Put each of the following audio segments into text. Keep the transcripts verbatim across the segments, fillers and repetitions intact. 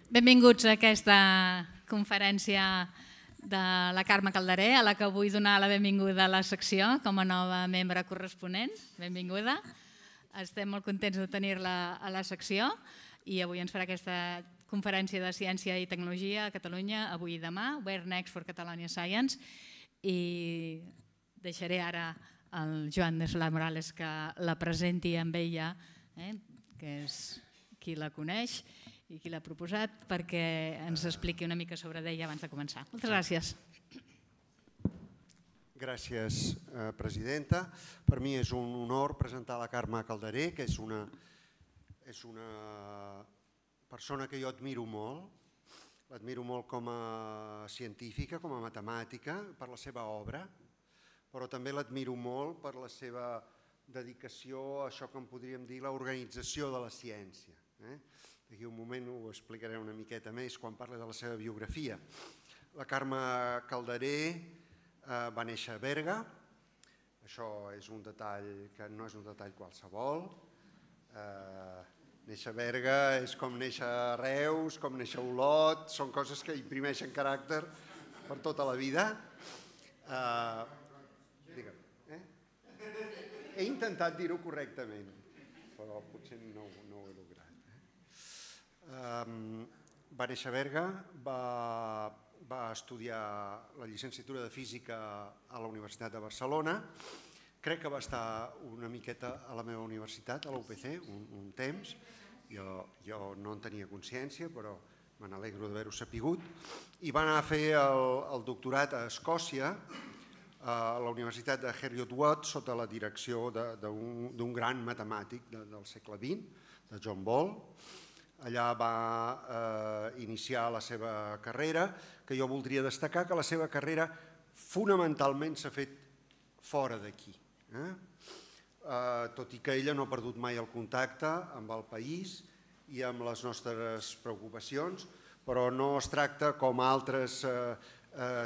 Benvinguts a aquesta conferència de la Carme Calderé, a la que vull donar la benvinguda a la secció com a nova membre corresponent. Benvinguda. Estem molt contents de tenir-la a la secció i avui ens farà aquesta conferència de ciència i tecnologia a Catalunya, avui i demà, Where Next for Catalonia Science, i deixaré ara al Joan de Solà Morales que la presenti amb ella, que és qui la coneix i qui l'ha proposat, perquè ens expliqui una mica sobre ella abans de començar. Moltes gràcies. Gràcies, presidenta. Per mi és un honor presentar la Carme Calderé, que és una, és una persona que jo admiro molt. L'admiro molt com a científica, com a matemàtica, per la seva obra, però també l'admiro molt per la seva dedicació a això que en podríem dir l'organització de la ciència. D'aquí un moment ho explicaré una miqueta més quan parli de la seva biografia. La Carme Calderé va néixer a Berga. Això és un detall que no és un detall qualsevol. Néixer a Berga és com néixer a Reus, com néixer a Olot, són coses que imprimeixen caràcter per tota la vida. He intentat dir-ho correctament, però potser no ho he lograt. Va néixer a Berga, va estudiar la llicenciatura de Física a la Universitat de Barcelona. Crec que va estar una miqueta a la meva universitat, a la U P C, un temps. Jo no en tenia consciència, però me n'alegro d'haver-ho sapigut. I va anar a fer el doctorat a Escòcia, a la Universitat de Heriot-Watt, sota la direcció d'un gran matemàtic del segle vint, de John Ball. Allà va iniciar la seva carrera, que jo voldria destacar que la seva carrera fonamentalment s'ha fet fora d'aquí. Tot i que ella no ha perdut mai el contacte amb el país i amb les nostres preocupacions, però no es tracta com altres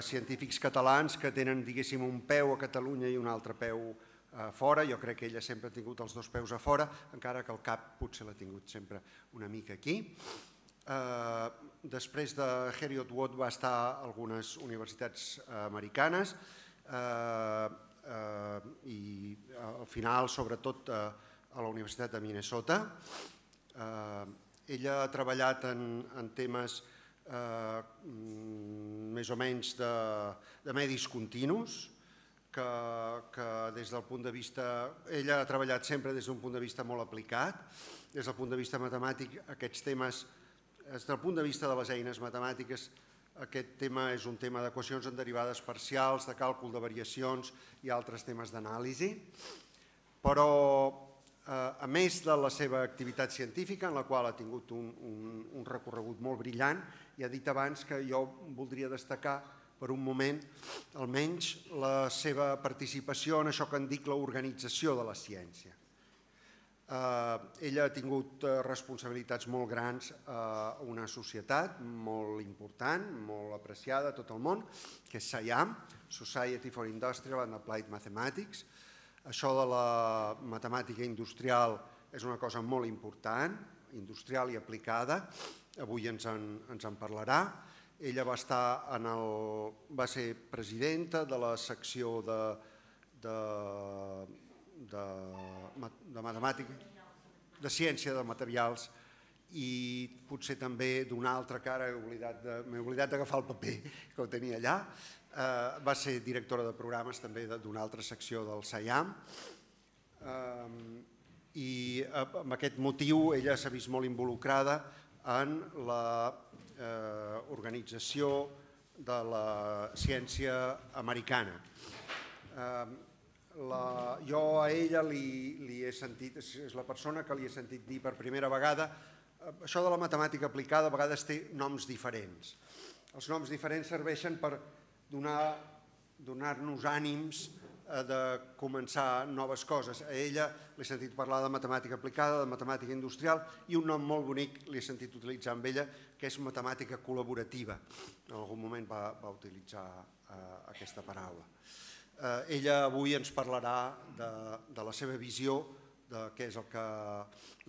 científics catalans que tenen, diguéssim, un peu a Catalunya i un altre peu a fora. Jo crec que ella sempre ha tingut els dos peus a fora, encara que el cap potser l'ha tingut sempre una mica aquí. Després de Heriot-Watt va estar a algunes universitats americanes i al final, sobretot, a la Universitat de Minnesota. Ella ha treballat en temes més o menys de medis continus, que des del punt de vista... Ella ha treballat sempre des d'un punt de vista molt aplicat. Des del punt de vista matemàtic, aquests temes, des del punt de vista de les eines matemàtiques, aquest tema és un tema d'equacions en derivades parcials, de càlcul de variacions i altres temes d'anàlisi. Però, a més de la seva activitat científica, en la qual ha tingut un recorregut molt brillant, i ha dit abans que jo voldria destacar per un moment, almenys, la seva participació en això que en dic l'organització de la ciència. Ella ha tingut responsabilitats molt grans a una societat molt important, molt apreciada a tot el món, que és S I A M, Society for Industrial and Applied Mathematics. Això de la matemàtica industrial és una cosa molt important, industrial i aplicada. Avui ens en parlarà. Ella va estar en el... va ser presidenta de la secció de... de matemàtica, de ciència de materials i potser també d'una altra cara, m'he oblidat d'agafar el paper que ho tenia allà. Va ser directora de programes també d'una altra secció del S I A M i amb aquest motiu ella s'ha vist molt involucrada en la organització de la ciència americana. Jo a ella li he sentit, és la persona que li he sentit dir per primera vegada, això de la matemàtica aplicada a vegades té noms diferents. Els noms diferents serveixen per donar-nos ànims de començar noves coses. A ella l'he sentit parlar de matemàtica aplicada, de matemàtica industrial, i un nom molt bonic l'he sentit utilitzar amb ella, que és matemàtica col·laborativa. En algun moment va utilitzar aquesta paraula. Ella avui ens parlarà de la seva visió de què és el que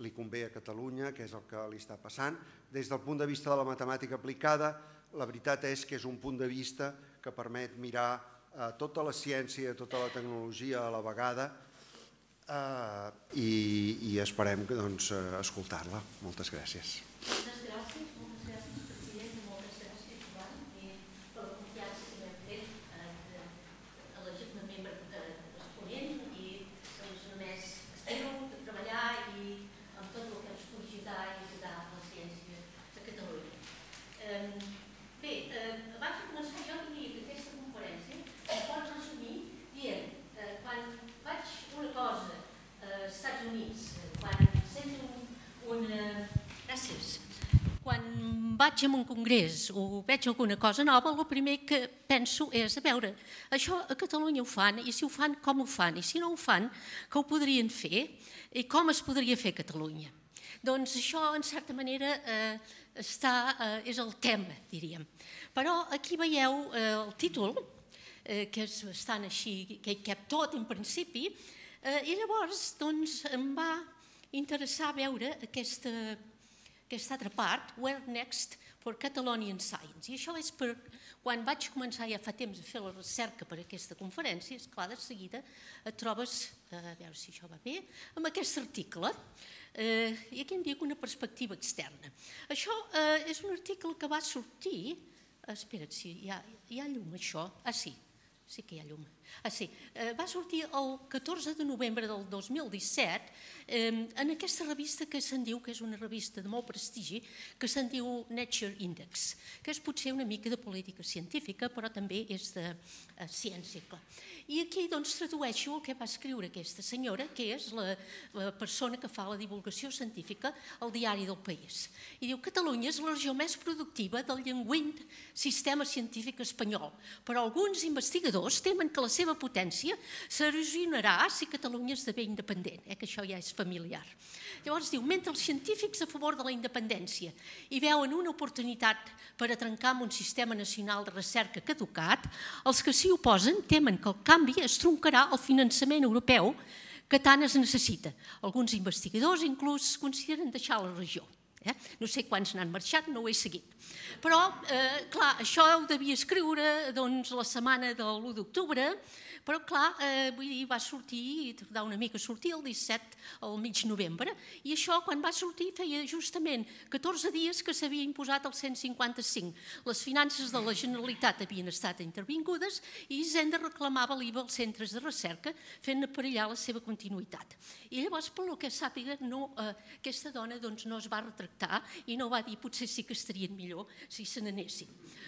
li convé a Catalunya, què és el que li està passant. Des del punt de vista de la matemàtica aplicada, la veritat és que és un punt de vista que permet mirar tota la ciència, tota la tecnologia a la vegada i esperem escoltar-la. Moltes gràcies. Moltes gràcies, moltes gràcies, president, i moltes gràcies, Joan, per la confiança que m'hem fet a la membre corresponent i només espero treballar i amb tot el que ens pugui ajudar i ajudar la ciència de Catalunya. Bé, abans de començar jo diria que aquesta conferència es pot resumir dient quan faig una cosa als Estats Units, quan sento una... Gràcies. Quan vaig a un congrés o veig alguna cosa nova, el primer que penso és, a veure, això a Catalunya ho fan, i si ho fan, com ho fan, i si no ho fan, que ho podrien fer, i com es podria fer a Catalunya. Doncs això, en certa manera, és el tema, diríem. Però aquí veieu el títol, que és bastant així, que hi cap tot en principi, i llavors em va interessar veure aquesta altra part, Where Next for Catalonian Science. I això és per quan vaig començar ja fa temps a fer la recerca per a aquesta conferència, esclar, de seguida et trobes, a veure si això va bé, amb aquest article. I aquí em dic una perspectiva externa. Això és un article que va sortir... Espera't, si hi ha llum, això? Ah, sí. Sí que hi ha llum. Ah, sí. Va sortir el catorze de novembre del dos mil disset en aquesta revista que se'n diu, que és una revista de molt prestigi, que se'n diu Nature Index, que és potser una mica de política científica, però també és de ciència. I aquí doncs tradueixo el que va escriure aquesta senyora, que és la persona que fa la divulgació científica al diari del País. I diu: Catalunya és la regió més productiva del llenguint sistema científic espanyol, però alguns investigadors temen que la seva potència s'erosionarà si Catalunya esdevé independent, que això ja és familiar. Llavors diu, mentre els científics a favor de la independència hi veuen una oportunitat per a trencar amb un sistema nacional de recerca caducat, els que s'hi oposen temen que el canvi es troncarà el finançament europeu que tant es necessita. Alguns investigadors inclús consideren deixar la regió. No sé quants n'han marxat, no ho he seguit. Però, clar, això ho devia escriure la setmana de l'u d'octubre, però, clar, vull dir, va sortir, tardar una mica a sortir el disset al mig novembre, i això, quan va sortir, feia justament catorze dies que s'havia imposat el cent cinquanta-cinc. Les finances de la Generalitat havien estat intervingudes i Hisenda reclamava l'I V A als centres de recerca, fent perillar la seva continuïtat. I llavors, pel que sàpiga, aquesta dona no es va retractar i no va dir potser sí que estarien millor si se n'anessin.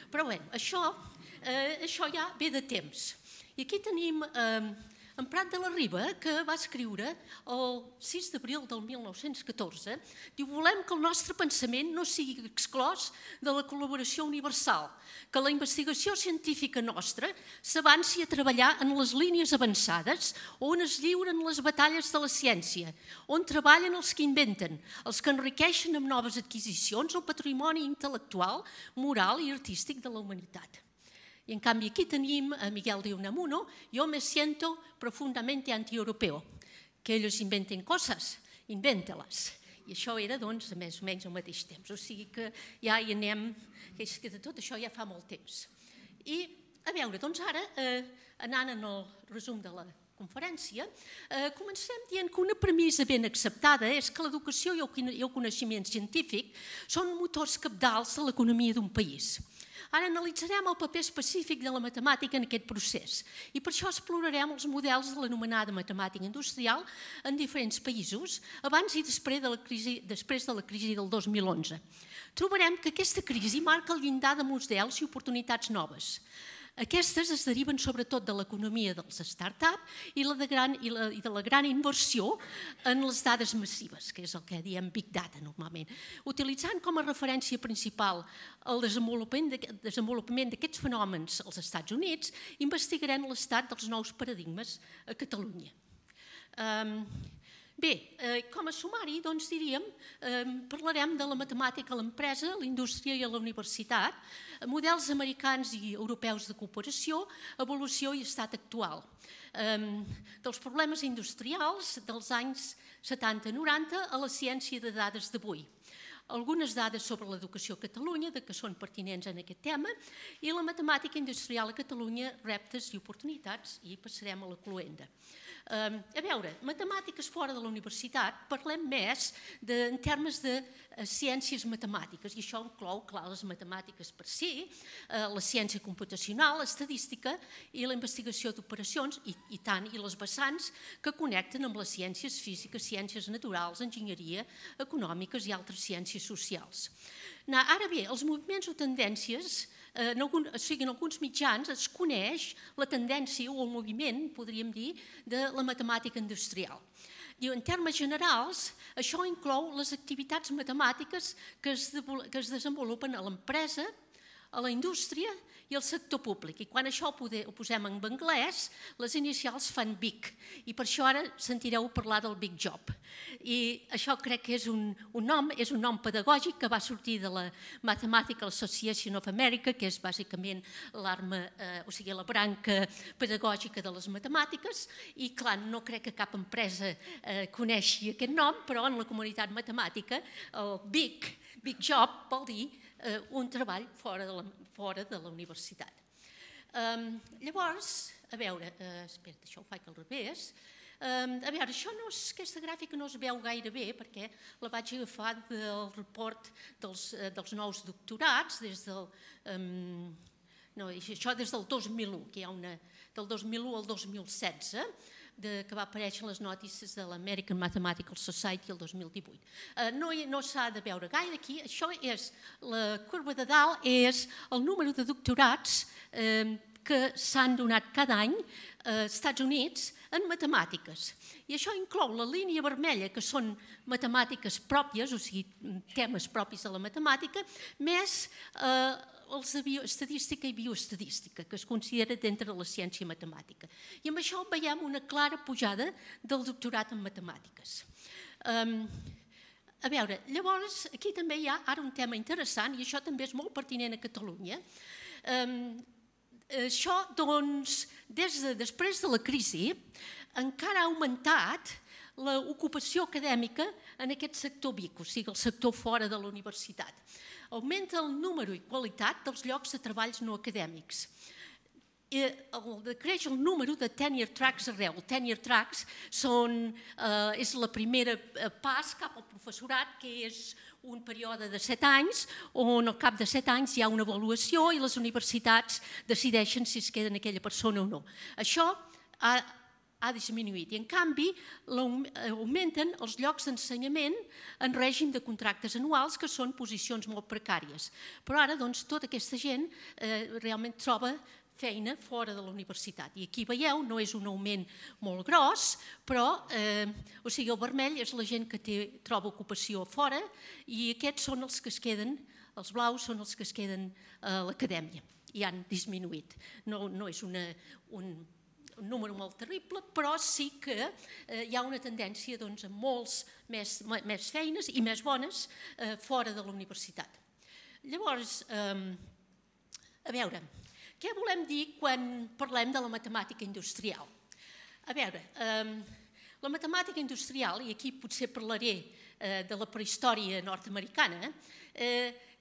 Però bé, això ja ve de temps. I aquí tenim en Prat de la Riba, que va escriure el sis d'abril del mil nou-cents catorze, diu: volem que el nostre pensament no sigui exclòs de la col·laboració universal, que la investigació científica nostra s'avanci a treballar en les línies avançades on es lliuren les batalles de la ciència, on treballen els que inventen, els que enriqueixen amb noves adquisicions el patrimoni intel·lectual, moral i artístic de la humanitat. Y en cambio aquí tenim a Miguel de Unamuno: yo me siento profundamente antieuropeo. Que ells inventen coses, inventa-les. I això era, doncs, més o menys al mateix temps. O sigui que ja hi anem, que de tot això ja fa molt temps. I, a veure, doncs ara, anant en el resum de la conferència, comencem dient que una premissa ben acceptada és que l'educació i el coneixement científic són motors cabdals de l'economia d'un país. Ara analitzarem el paper específic de la matemàtica en aquest procés i per això explorarem els models de l'anomenada matemàtica industrial en diferents països abans i després de la crisi, després de la crisi del dos mil onze. Trobarem que aquesta crisi marca el llindar de models i oportunitats noves. Aquestes es deriven sobretot de l'economia dels start-up i de la gran inversió en les dades massives, que és el que diem Big Data normalment. Utilitzant com a referència principal el desenvolupament d'aquests fenòmens als Estats Units, investigarem l'estat dels nous paradigmes a Catalunya. Bé, com a sumari, doncs diríem, parlarem de la matemàtica a l'empresa, la indústria i a la universitat, models americans i europeus de cooperació, evolució i estat actual, dels problemes industrials dels anys setanta noranta a la ciència de dades d'avui. Algunes dades sobre l'educació a Catalunya, que són pertinents en aquest tema, i la matemàtica industrial a Catalunya, reptes i oportunitats, i passarem a la cloenda. A veure, matemàtiques fora de la universitat, parlem més en termes de ciències matemàtiques, i això inclou, clar, les matemàtiques per si, la ciència computacional, l'estadística i la investigació d'operacions, i tant, i les vessants que connecten amb les ciències físiques, ciències naturals, enginyeria, econòmiques i altres ciències socials. Ara bé, els moviments o tendències, o sigui, en alguns mitjans es coneix la tendència o el moviment, podríem dir, de la matemàtica industrial. En termes generals, això inclou les activitats matemàtiques que es desenvolupen a l'empresa, a la indústria i al sector públic. I quan això ho posem en anglès, les inicials fan BIG, i per això ara sentireu parlar del Big Job. I això crec que és un nom, és un nom pedagògic que va sortir de la Mathematical Association of America, que és bàsicament l'arma, o sigui, la branca pedagògica de les matemàtiques, i clar, no crec que cap empresa coneixi aquest nom, però en la comunitat matemàtica el Big, Big Job vol dir un treball fora de la universitat. Llavors, a veure, espera, això ho faig al revés. A veure, aquesta gràfica no es veu gaire bé perquè la vaig agafar del report dels nous doctorats, des del... No, això des del dos mil u, que hi ha una... del dos mil u al dos mil setze, que va aparèixer en les notícies de l'American Mathematical Society el dos mil divuit. No s'ha de veure gaire aquí. Això és, la corba de dalt és el número de doctorats que s'han donat cada any als Estats Units en matemàtiques. I això inclou la línia vermella, que són matemàtiques pròpies, o sigui, temes propis de la matemàtica, més els de estadística i bioestadística, que es considera dintre de la ciència matemàtica. I amb això veiem una clara pujada del doctorat en matemàtiques. A veure, llavors, aquí també hi ha ara un tema interessant, i això també és molt pertinent a Catalunya. Això, doncs, després de la crisi, encara ha augmentat l'ocupació acadèmica en aquest sector B I C, o sigui, el sector fora de la universitat. Augmenta el número i qualitat dels llocs de treballs no acadèmics. Creix el número de tenure tracks arreu. Tenure tracks és la primera pas cap al professorat, que és un període de set anys, on al cap de set anys hi ha una avaluació i les universitats decideixen si es queden aquella persona o no. Això ha disminuït i, en canvi, augmenten els llocs d'ensenyament en règim de contractes anuals, que són posicions molt precàries. Però ara, doncs, tota aquesta gent realment troba feina fora de la universitat. I aquí veieu, no és un augment molt gros, però, o sigui, el vermell és la gent que troba ocupació fora i aquests són els que es queden, els blaus són els que es queden a l'acadèmia i han disminuït. No és un número molt terrible, però sí que hi ha una tendència a molts més feines i més bones fora de la universitat. Llavors, a veure, què volem dir quan parlem de la matemàtica industrial? A veure, la matemàtica industrial, i aquí potser parlaré de la prehistòria nord-americana,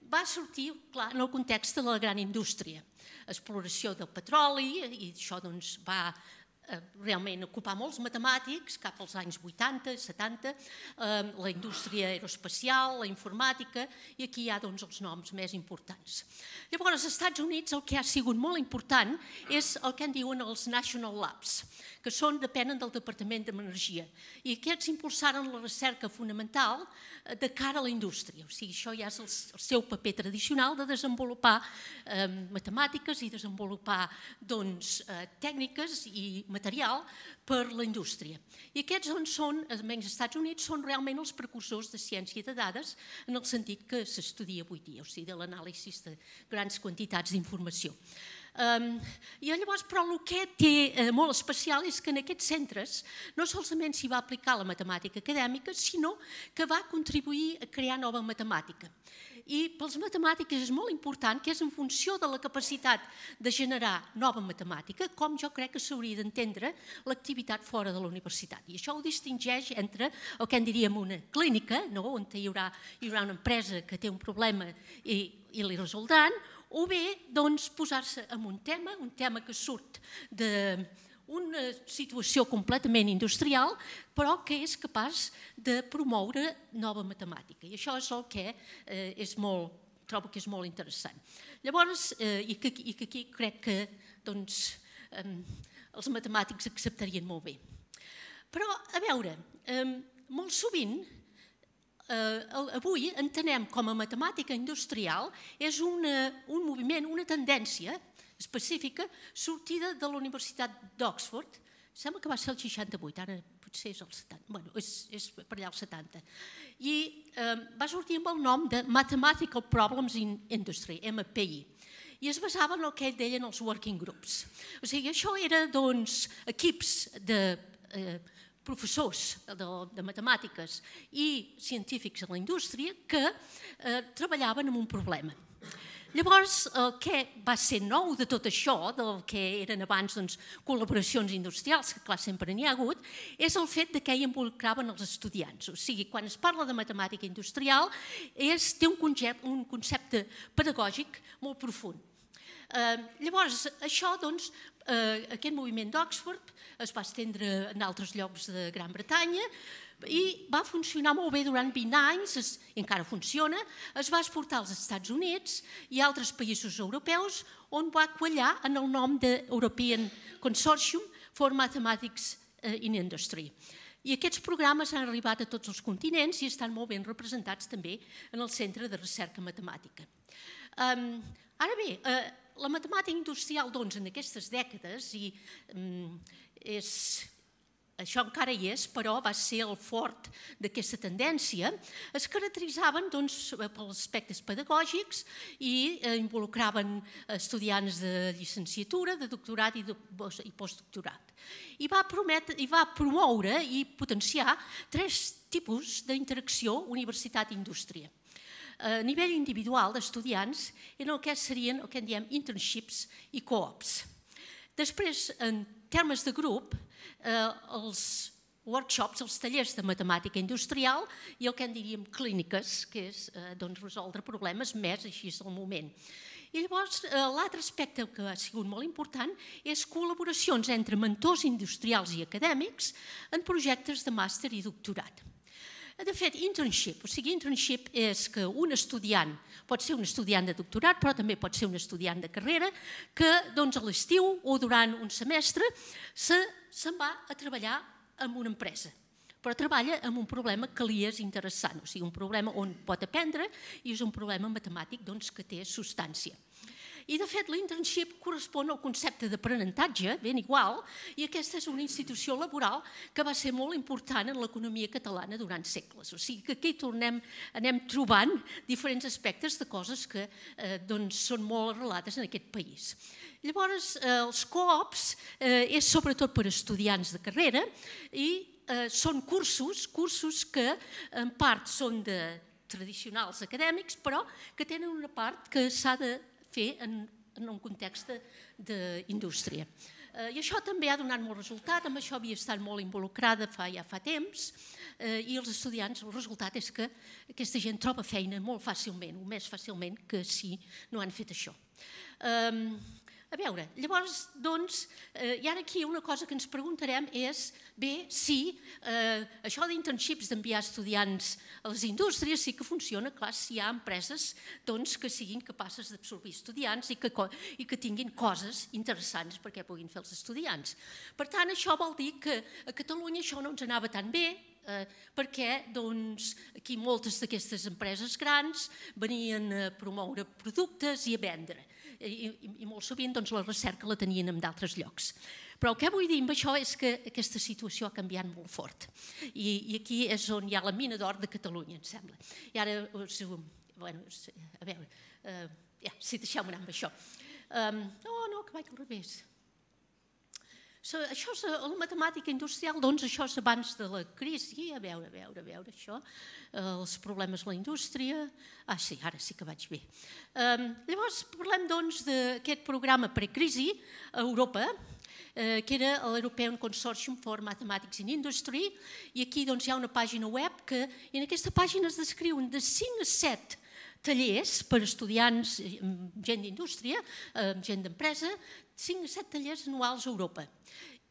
va sortir, clar, en el context de la gran indústria. Exploració del petroli, i això va realment ocupar molts matemàtics cap als anys vuitanta, setanta, la indústria aeroespacial, la informàtica, i aquí hi ha els noms més importants. Llavors, als Estats Units el que ha sigut molt important és el que en diuen els National Labs, que depenen del Departament d'Energia, i aquests impulsaren la recerca fonamental de cara a la indústria. O sigui, això ja és el seu paper tradicional de desenvolupar matemàtiques i desenvolupar tècniques i material per la indústria. I aquests són, almenys als Estats Units, són realment els precursors de ciència de dades en el sentit que s'estudia avui dia, o sigui, de l'anàlisi de grans quantitats d'informació. Um, I llavors, però el que té eh, molt especial és que en aquests centres no solament s'hi va aplicar la matemàtica acadèmica, sinó que va contribuir a crear nova matemàtica. I pels matemàtics és molt important que és en funció de la capacitat de generar nova matemàtica, com jo crec que s'hauria d'entendre l'activitat fora de la universitat. I això ho distingeix entre el que en diríem una clínica, no? On hi haurà, hi haurà una empresa que té un problema i, i li resoldran, o bé doncs, posar-se en un tema, un tema que surt d'una situació completament industrial, però que és capaç de promoure nova matemàtica. I això és el que eh, és molt, trobo que és molt interessant. Llavors, eh, i, que, i que aquí crec que doncs, eh, els matemàtics acceptarien molt bé. Però, a veure, eh, molt sovint, Uh, avui entenem com a matemàtica industrial és una, un moviment, una tendència específica sortida de la Universitat d'Oxford. Sembla que va ser el seixanta-vuit, ara potser és el setanta, bueno, és, és per allà el setanta. I uh, va sortir amb el nom de Mathematical Problems in Industry, M P I. I es basava en el que deien els working groups. O sigui, això era, doncs, equips de uh, professors de, de matemàtiques i científics a la indústria que eh, treballaven en un problema. Llavors, el que va ser nou de tot això, del que eren abans doncs, col·laboracions industrials, que clar, sempre n'hi ha hagut, és el fet de que hi involucraven els estudiants. O sigui, quan es parla de matemàtica industrial, és, té un concepte, un concepte pedagògic molt profund. Eh, llavors, això, doncs, eh, aquest moviment d'Oxford es va estendre en altres llocs de Gran Bretanya i va funcionar molt bé durant vint anys, es, i encara funciona, es va exportar als Estats Units i a altres països europeus on va quallar en el nom de European Consortium for Mathematics in Industry. I aquests programes han arribat a tots els continents i estan molt ben representats també en el Centre de Recerca Matemàtica. Um, ara bé, eh, la matemàtica industrial, doncs, en aquestes dècades, i um, és, això encara hi és, però va ser el fort d'aquesta tendència, es caracteritzaven doncs, pels aspectes pedagògics i eh, involucraven estudiants de llicenciatura, de doctorat i, de, i postdoctorat. I va, prometre, I va promoure i potenciar tres tipus d'interacció universitat-indústria. A nivell individual d'estudiants en el que serien el que en diem internships i co-ops. Després, en termes de grup, eh, els workshops, els tallers de matemàtica industrial i el que en diríem clíniques, que és eh, doncs, resoldre problemes més així al moment. I llavors, eh, l'altre aspecte que ha sigut molt important és col·laboracions entre mentors industrials i acadèmics en projectes de màster i doctorat. De fet, internship, o sigui, internship és que un estudiant, pot ser un estudiant de doctorat, però també pot ser un estudiant de carrera, que doncs, a l'estiu o durant un semestre se'n va a treballar en una empresa, però treballa amb un problema que li és interessant, o sigui, un problema on pot aprendre i és un problema matemàtic doncs, que té substància. I, de fet, l'internship correspon al concepte d'aprenentatge, ben igual, i aquesta és una institució laboral que va ser molt important en l'economia catalana durant segles. O sigui que aquí tornem, anem trobant diferents aspectes de coses que eh, doncs, són molt arrelades en aquest país. Llavors, eh, els co-ops eh, és sobretot per estudiants de carrera i eh, són cursos, cursos que en part són de tradicionals acadèmics, però que tenen una part que s'ha de fer en, en un context d'indústria. Eh, I això també ha donat molt resultat, amb això havia estat molt involucrada fa, ja fa temps, eh, i els estudiants, el resultat és que aquesta gent troba feina molt fàcilment, o més fàcilment que si no han fet això. Eh, A veure, llavors, doncs, eh, i ara aquí una cosa que ens preguntarem és, bé, si eh, això d'internships, d'enviar estudiants a les indústries, sí que funciona, clar, si hi ha empreses doncs, que siguin capaces d'absorbir estudiants i que, i que tinguin coses interessants perquè puguin fer els estudiants. Per tant, això vol dir que a Catalunya això no ens anava tan bé, perquè aquí moltes d'aquestes empreses grans venien a promoure productes i a vendre. I molt sovint la recerca la tenien en d'altres llocs. Però el que vull dir amb això és que aquesta situació ha canviat molt fort. I aquí és on hi ha la mina d'or de Catalunya, em sembla. I ara, bueno, a veure, si deixeu-me anar amb això. No, no, que vaig al revés. Això és la matemàtica industrial, doncs això és abans de la crisi, a veure, a veure, a veure això, els problemes a la indústria, ah sí, ara sí que vaig bé. Llavors parlem doncs d'aquest programa precrisi a Europa, que era l'European Consortium for Mathematics in Industry, i aquí doncs hi ha una pàgina web que en aquesta pàgina es descriuen de cinc a set tallers per estudiants, gent d'indústria, gent d'empresa, cinc a set tallers anuals a Europa.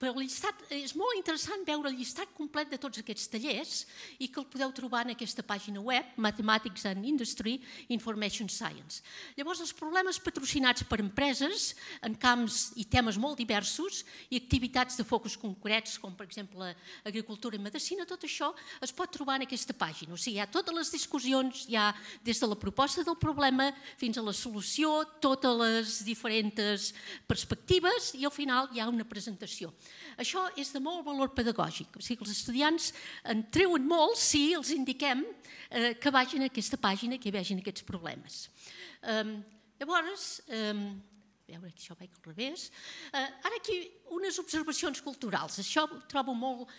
Però el llistat, és molt interessant veure el llistat complet de tots aquests tallers i que el podeu trobar en aquesta pàgina web, Mathematics and Industry Information Science. Llavors, els problemes patrocinats per empreses en camps i temes molt diversos i activitats de focus concrets, com per exemple agricultura i medicina, tot això es pot trobar en aquesta pàgina. O sigui, hi ha totes les discussions, hi ha des de la proposta del problema fins a la solució, totes les diferents perspectives i al final hi ha una presentació. Això és de molt valor pedagògic, o sigui que els estudiants en treuen molt si els indiquem que vagin a aquesta pàgina, que vegin aquests problemes. Llavors, a veure, això vaig al revés, ara aquí unes observacions culturals, això ho trobo molt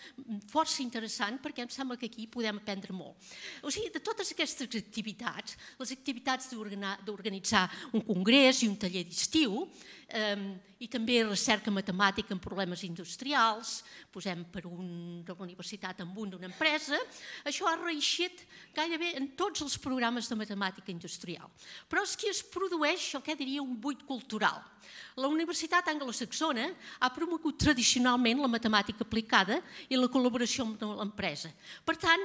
força interessant perquè em sembla que aquí podem aprendre molt. O sigui, de totes aquestes activitats, les activitats d'organitzar un congrés i un taller d'estiu, i també recerca matemàtica en problemes industrials, posem per una universitat amb un d'una empresa, això ha reeixit gairebé en tots els programes de matemàtica industrial. Però és que es produeix el que diria un buit cultural. La Universitat Anglosaxona ha promogut tradicionalment la matemàtica aplicada i la col·laboració amb l'empresa. Per tant,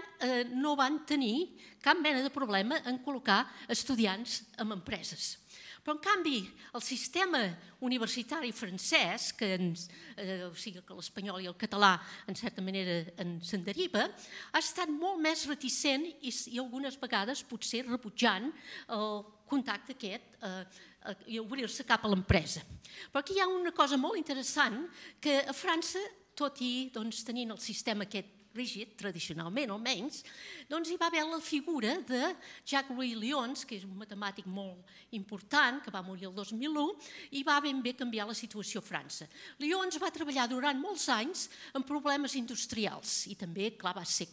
no van tenir cap mena de problema en col·locar estudiants en empreses. Però, en canvi, el sistema universitari francès, que l'espanyol i el català, en certa manera, se'n deriva, ha estat molt més reticent i algunes vegades potser rebutjant el contacte aquest i obrir-se cap a l'empresa. Però aquí hi ha una cosa molt interessant, que a França, tot i tenint el sistema aquest rígid, tradicionalment almenys, doncs hi va haver la figura de Jacques-Louis Lyons, que és un matemàtic molt important, que va morir el dos mil u, i va ben bé canviar la situació a França. Lyons va treballar durant molts anys en problemes industrials i també, clar, va ser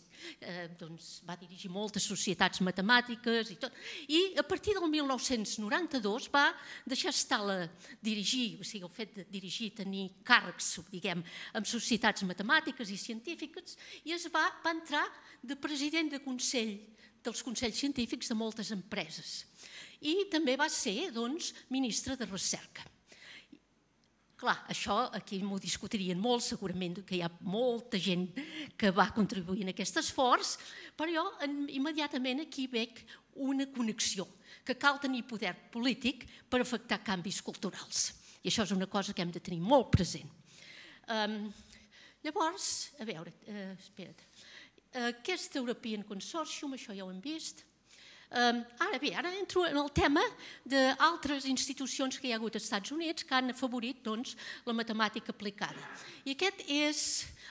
va dirigir moltes societats matemàtiques i tot. I a partir del mil nou-cents noranta-dos va deixar estar de dirigir, o sigui, el fet de dirigir, tenir càrrecs, diguem, en societats matemàtiques i científiques, i es va entrar de president de consell dels consells científics de moltes empreses. I també va ser, doncs, ministre de recerca. Clar, això aquí m'ho discutirien molt, segurament que hi ha molta gent que va contribuir en aquest esforç, però jo immediatament aquí veig una connexió, que cal tenir poder polític per afectar canvis culturals. I això és una cosa que hem de tenir molt present. Llavors, a veure, espera't, aquest European Consortium, això ja ho hem vist. Ara bé, ara entro en el tema d'altres institucions que hi ha hagut als Estats Units que han afavorit la matemàtica aplicada. I aquest és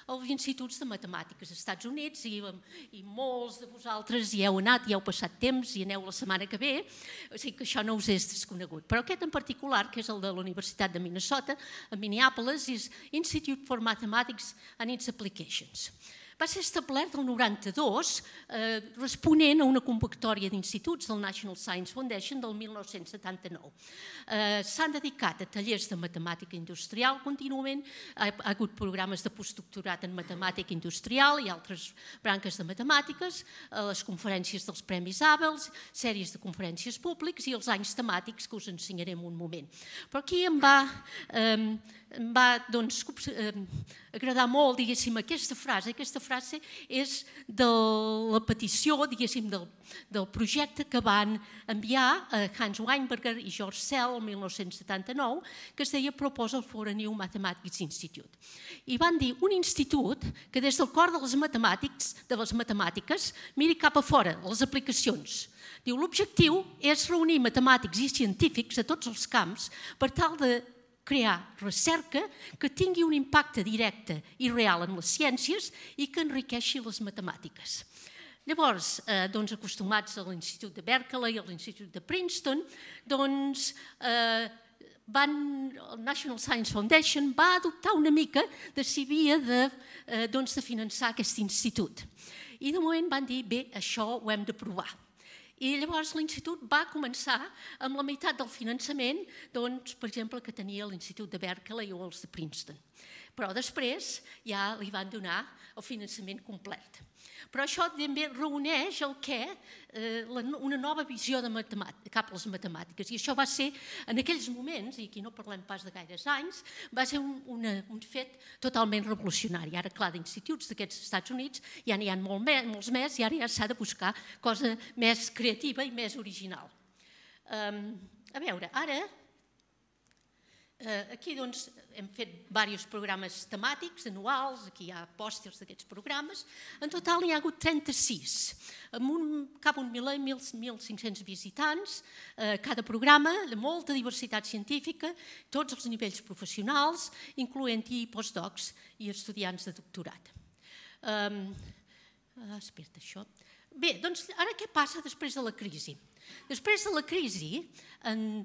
els instituts de matemàtiques als Estats Units i molts de vosaltres hi heu anat, hi heu passat temps i aneu la setmana que ve, o sigui que això no us és desconegut. Però aquest en particular, que és el de la Universitat de Minnesota, a Minneapolis, és Institute for Mathematics and its Applications. Va ser establert el noranta-dos, responent a una convocatòria d'instituts del National Science Foundation del mil nou-cents setanta-nou. S'han dedicat a tallers de matemàtica industrial contínuament, ha hagut programes de postdoctorat en matemàtica industrial i altres branques de matemàtiques, les conferències dels Premis Abel, sèries de conferències públics i els anys temàtics que us ensenyaré en un moment. Però aquí em va... em va agradar molt, diguéssim, aquesta frase. Aquesta frase és de la petició, diguéssim, del, del projecte que van enviar a Hans Weinberger i George Sell el mil nou-cents setanta-nou, que es deia Proposal for a New Mathematics Institute. I van dir un institut que des del cor de les matemàtiques, de les matemàtiques miri cap a fora, les aplicacions. Diu, l'objectiu és reunir matemàtics i científics a tots els camps per tal de crear recerca que tingui un impacte directe i real en les ciències i que enriqueixi les matemàtiques. Llavors, doncs, acostumats a l'Institut de Berkeley i a l'Institut de Princeton, doncs, van, el National Science Foundation va adoptar una mica de si havia de, doncs, de finançar aquest institut. I de moment van dir, bé, això ho hem de provar. I llavors l'Institut va començar amb la meitat del finançament, doncs, per exemple, que tenia l'Institut de Berkeley o els de Princeton. Però després ja li van donar el finançament complet. Però això també reuneix el què, una nova visió cap a les matemàtiques. I això va ser, en aquells moments, i aquí no parlem pas de gaires anys, va ser un fet totalment revolucionari. Ara, clar, d'instituts d'aquests Estats Units ja n'hi ha molts més i ara ja s'ha de buscar cosa més creativa i més original. A veure, ara... Aquí doncs hem fet diversos programes temàtics, anuals, aquí hi ha pòsters d'aquests programes. En total n'hi ha hagut trenta-sis, amb cap a un miler, mil cinc-cents visitants, cada programa, de molta diversitat científica, tots els nivells professionals, incloent-hi postdocs i estudiants de doctorat. Espera't, això. Bé, doncs ara què passa després de la crisi? Després de la crisi, en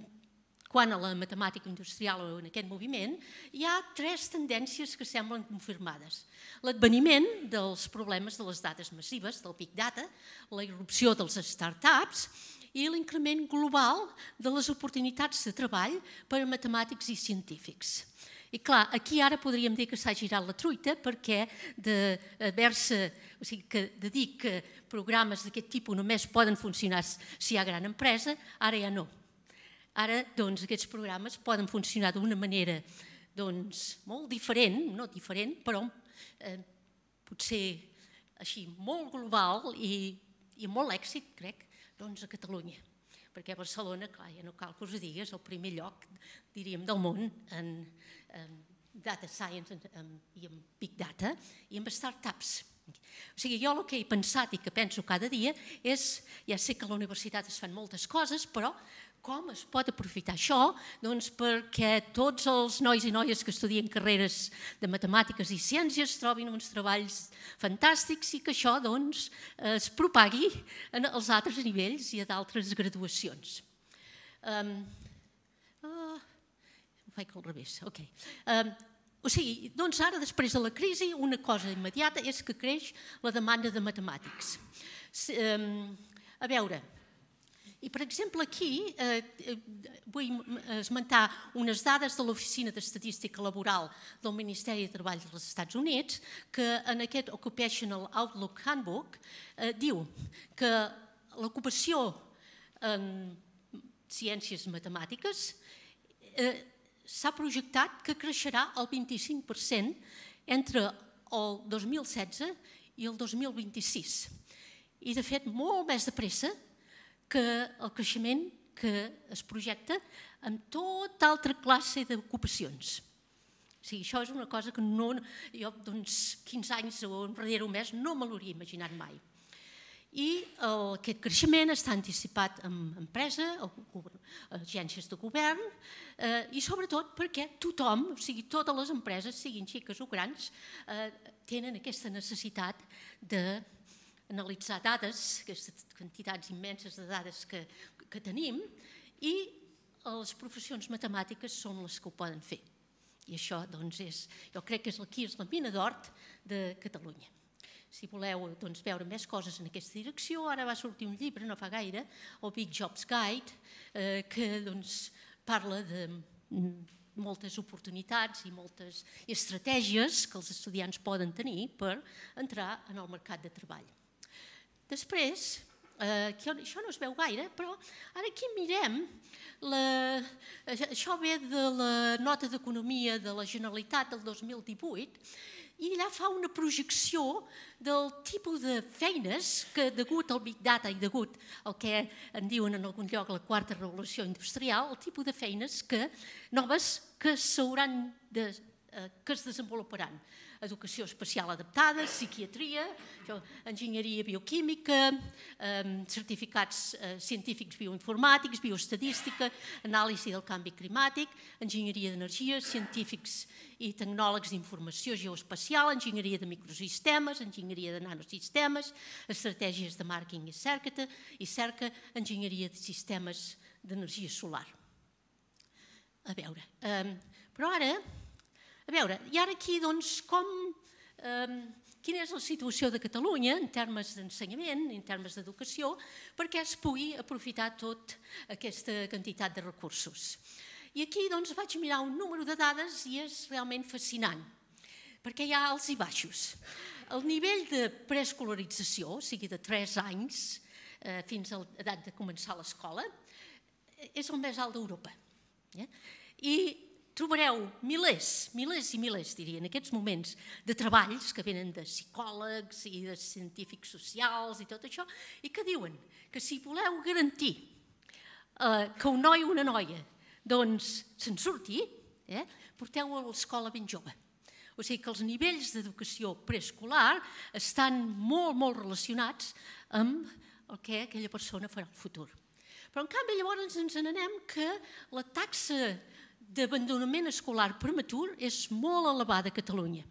quant a la matemàtica industrial o en aquest moviment, hi ha tres tendències que semblen confirmades. L'adveniment dels problemes de les dades massives, del Big Data, la irrupció dels start-ups i l'increment global de les oportunitats de treball per a matemàtics i científics. I clar, aquí ara podríem dir que s'ha girat la truita perquè d'haver-se, o sigui, de dir que programes d'aquest tipus només poden funcionar si hi ha gran empresa, ara ja no. Ara, doncs, aquests programes poden funcionar d'una manera, doncs, molt diferent, no diferent, però potser així molt global i amb molt èxit, crec, doncs, a Catalunya. Perquè a Barcelona, clar, ja no cal que us ho digui, és el primer lloc, diríem, del món en data science i en big data i en startups. O sigui, jo el que he pensat i que penso cada dia és, ja sé que a la universitat es fan moltes coses, però com es pot aprofitar això? Doncs perquè tots els nois i noies que estudien carreres de matemàtiques i ciències trobin uns treballs fantàstics i que això doncs es propagui als altres nivells i a d'altres graduacions. Ho faig al revés, ok. O sigui, doncs ara, després de la crisi, una cosa immediata és que creix la demanda de matemàtics. A veure... I, per exemple, aquí vull esmentar unes dades de l'Oficina d'Estadística Laboral del Ministeri de Treball dels Estats Units que en aquest Occupational Outlook Handbook diu que l'ocupació en ciències matemàtiques s'ha projectat que creixerà el vint-i-cinc per cent entre el dos mil setze i el dos mil vint-i-sis. I, de fet, molt més de pressa que el creixement que es projecta amb tota altra classe d'ocupacions. O sigui, això és una cosa que jo, doncs, quinze anys o enrere o més, no me l'hauria imaginat mai. I aquest creixement està anticipat en empresa, agències de govern, i sobretot perquè tothom, o sigui, totes les empreses, siguin xiques o grans, tenen aquesta necessitat de analitzar dades, aquestes quantitats immenses de dades que tenim, i les professions matemàtiques són les que ho poden fer. I això, doncs, és, jo crec que aquí és la mina d'or de Catalunya. Si voleu veure més coses en aquesta direcció, ara va sortir un llibre, no fa gaire, el Big Jobs Guide, que parla de moltes oportunitats i moltes estratègies que els estudiants poden tenir per entrar en el mercat de treball. Després, això no es veu gaire, però ara aquí mirem, això ve de la nota d'economia de la Generalitat del dos mil divuit, i allà fa una projecció del tipus de feines que, degut al Big Data i degut al que en diuen en algun lloc la quarta revolució industrial, el tipus de feines que, noves que s'hauran de, que es desenvoluparan. Educació especial adaptada, psiquiatria, enginyeria bioquímica, certificats científics bioinformàtics, bioestadística, anàlisi del canvi climàtic, enginyeria d'energia, científics i tecnòlegs d'informació geoespacial, enginyeria de microsistemes, enginyeria de nanosistemes, estratègies de màrqueting i cerca, i cerca, enginyeria de sistemes d'energia solar. A veure, però ara... A veure, i ara aquí, doncs, com, eh, quina és la situació de Catalunya en termes d'ensenyament, en termes d'educació, perquè es pugui aprofitar tota aquesta quantitat de recursos. I aquí, doncs, vaig mirar un número de dades i és realment fascinant, perquè hi ha alts i baixos. El nivell de preescolarització, o sigui, de tres anys eh, fins a l'edat de començar l'escola, és el més alt d'Europa. Eh? I trobareu milers, milers i milers, diria, en aquests moments, de treballs que venen de psicòlegs i de científics socials i tot això, i que diuen que si voleu garantir eh, que un noi o una noia doncs se'n surti, eh, porteu-ho a l'escola ben jove. O sigui que els nivells d'educació preescolar estan molt, molt relacionats amb el que aquella persona farà al futur. Però, en canvi, llavors ens n'anem que la taxa d'abandonament escolar prematur és molt elevada a Catalunya.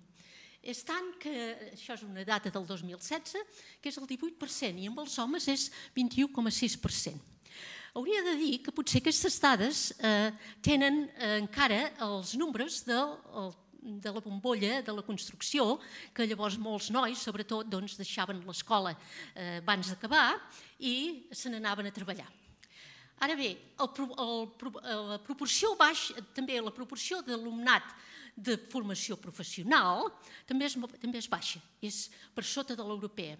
És tant que, això és una data del dos mil setze, que és el divuit per cent i amb els homes és vint-i-u coma sis per cent. Hauria de dir que potser aquestes dades eh, tenen eh, encara els números del, el, de la bombolla de la construcció, que llavors molts nois, sobretot, doncs, deixaven l'escola eh, abans d'acabar i se n'anaven a treballar. Ara bé, el, el, la proporció baix, també la proporció d'alumnat de formació professional també és, també és baixa, és per sota de l'europea.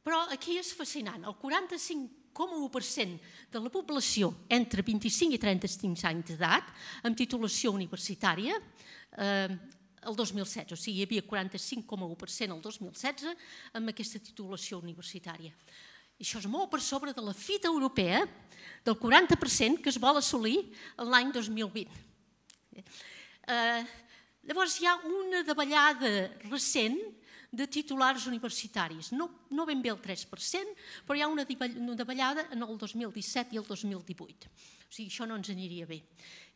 Però aquí és fascinant, el quaranta-cinc coma u per cent de la població entre vint-i-cinc i trenta-cinc anys d'edat amb titulació universitària eh, el dos mil setze, o sigui, hi havia quaranta-cinc coma u per cent el dos mil setze amb aquesta titulació universitària. I això és molt per sobre de la fita europea del quaranta per cent que es vol assolir l'any dos mil vint. Eh, llavors hi ha una davallada recent de titulars universitaris, no, no ben bé el tres per cent, però hi ha una davallada en el dos mil disset i el dos mil divuit. O sigui, això no ens aniria bé.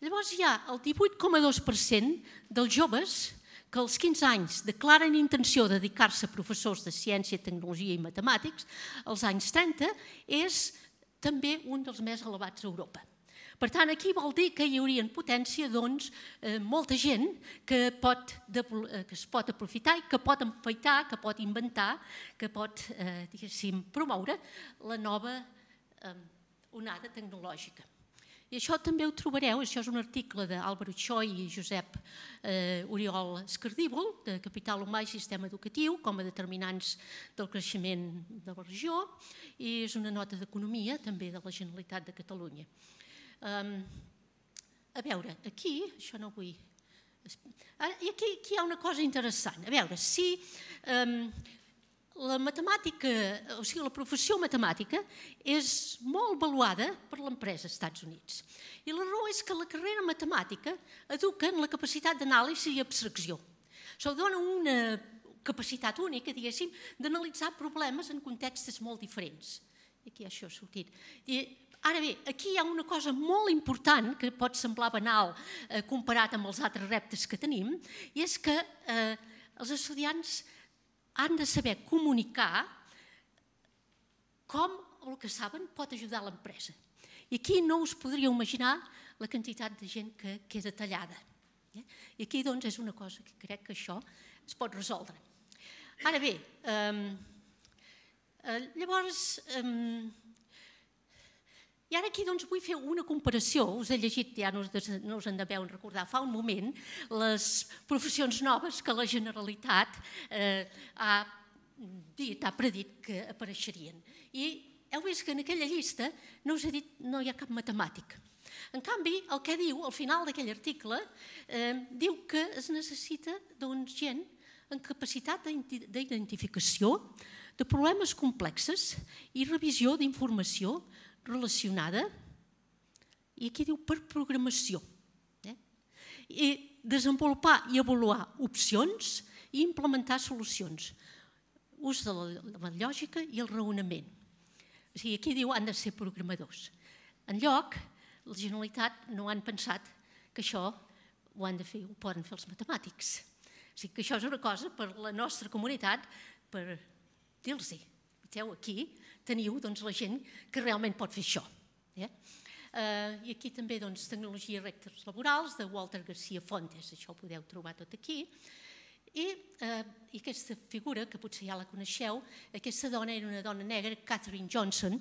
Llavors hi ha el divuit coma dos per cent dels joves que als quinze anys declaren intenció de dedicar-se a professors de ciència, tecnologia i matemàtics, als anys trenta és també un dels més elevats a Europa. Per tant, aquí vol dir que hi hauria en potència doncs, eh, molta gent que, pot, de, que es pot aprofitar i que pot empaitar, que pot inventar, que pot eh, diguéssim, promoure la nova eh, onada tecnològica. I això també ho trobareu, això és un article d'Àlvaro Choi i Josep eh, Oriol Escardíbol, de Capital Humà i Sistema Educatiu, com a determinants del creixement de la regió, i és una nota d'economia també de la Generalitat de Catalunya. Um, a veure, aquí, això no vull... Ara, i aquí, aquí hi ha una cosa interessant. A veure, si... Um, La matemàtica, o sigui, la professió matemàtica és molt valuada per l'empresa als Estats Units. I la raó és que la carrera matemàtica educa en la capacitat d'anàlisi i abstracció. Això dona una capacitat única, diguéssim, d'analitzar problemes en contextes molt diferents. I aquí això ha sortit. I ara bé, aquí hi ha una cosa molt important que pot semblar banal eh, comparat amb els altres reptes que tenim, i és que eh, els estudiants han de saber comunicar com el que saben pot ajudar l'empresa. I aquí no us podríeu imaginar la quantitat de gent que queda tallada. I aquí doncs és una cosa que crec que això es pot resoldre. Ara bé, llavors, i ara aquí doncs vull fer una comparació, us he llegit, ja no us en deveu recordar, fa un moment, les professions noves que la Generalitat ha dit, ha predit que apareixerien. I heu vist que en aquella llista no us he dit, no hi ha cap matemàtic. En canvi, el que diu, al final d'aquell article, diu que es necessita doncs gent en capacitat d'identificació de problemes complexes i revisió d'informació relacionada, i aquí diu per programació, i desenvolupar i avaluar opcions i implementar solucions, ús de la lògica i el raonament. O sigui, aquí diu han de ser programadors. Enlloc, la Generalitat no han pensat que això ho han de fer, ho poden fer els matemàtics. O sigui, que això és una cosa per la nostra comunitat, per dir-los-hi. Aquí teniu la gent que realment pot fer això. I aquí també tecnologia i reptes laborals de Walter García Fontes, això ho podeu trobar tot aquí. I aquesta figura, que potser ja la coneixeu, aquesta dona era una dona negra, Katherine Johnson,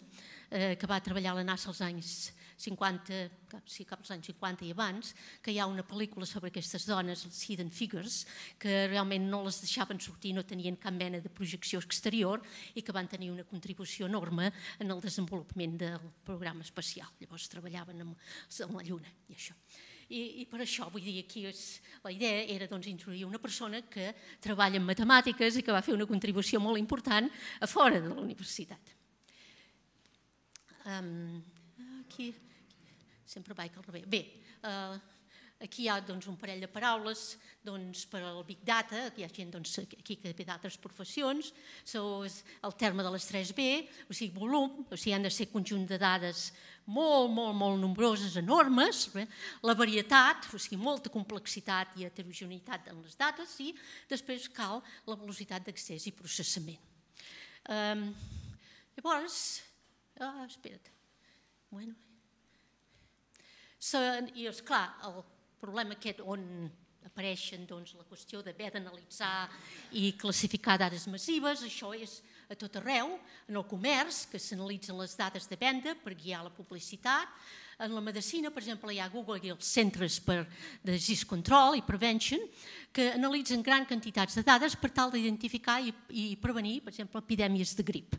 que va treballar a la NASA als anys cinquanta, sí, cap als anys cinquanta i abans, que hi ha una pel·lícula sobre aquestes dones, els Hidden Figures, que realment no les deixaven sortir, no tenien cap mena de projecció exterior i que van tenir una contribució enorme en el desenvolupament del programa espacial. Llavors treballaven amb la Lluna i això. I per això, vull dir, aquí la idea era introduir una persona que treballa en matemàtiques i que va fer una contribució molt important a fora de la universitat. Aquí, sempre vaig al revés. Bé, aquí hi ha un parell de paraules per al Big Data, hi ha gent aquí que ve d'altres professions, el terme de les tres B, o sigui, volum, o sigui, han de ser conjunt de dades molt, molt, molt nombroses, enormes, la varietat, o sigui, molta complexitat i heterogeneïtat en les dades, i després cal la velocitat d'accés i processament. Llavors, espera't, bueno, i esclar, el problema aquest on apareixen la qüestió d'haver d'analitzar i classificar dades massives, això és a tot arreu, en el comerç, que s'analitzen les dades de venda per guiar la publicitat, en la medicina, per exemple, hi ha Google i els centres de disease control i prevention, que analitzen grans quantitats de dades per tal d'identificar i prevenir, per exemple, epidèmies de grip.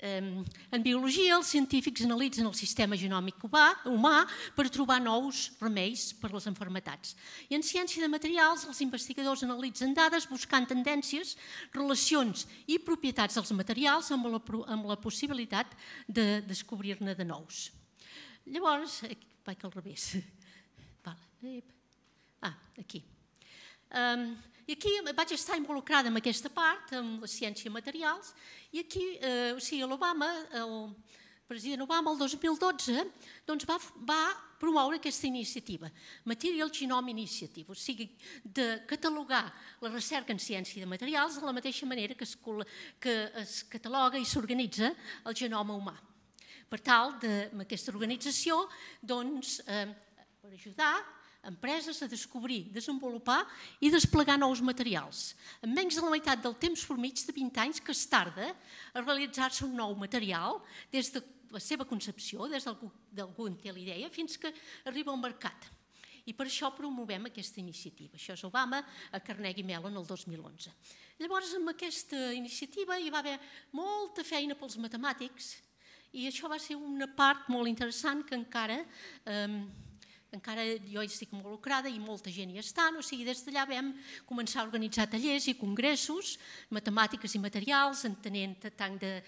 En biologia, els científics analitzen el sistema genòmic humà per trobar nous remeis per a les malalties. I en ciència de materials, els investigadors analitzen dades buscant tendències, relacions i propietats dels materials amb la possibilitat de descobrir-ne de nous. Llavors, vaig al revés. Ah, aquí. I aquí vaig estar involucrada en aquesta part, en la ciència de materials, i aquí, o sigui, l'Obama, el president Obama, el dos mil dotze, va promoure aquesta iniciativa, Material Genome Initiative, o sigui, de catalogar la recerca en ciència de materials de la mateixa manera que es cataloga i s'organitza el genoma humà. Per tal, amb aquesta organització, doncs, per ajudar empreses a descobrir, desenvolupar i desplegar nous materials. En menys de la meitat del temps mitjà de vint anys que es tarda a realitzar-se un nou material des de la seva concepció, des d'algú en té la idea, fins que arriba al mercat. I per això promovem aquesta iniciativa. Això és Obama a Carnegie Mellon el dos mil onze. Llavors, amb aquesta iniciativa hi va haver molta feina pels matemàtics i això va ser una part molt interessant que encara encara jo hi estic involucrada i molta gent hi està, o sigui, des d'allà vam començar a organitzar tallers i congressos, matemàtiques i materials, entenent tant de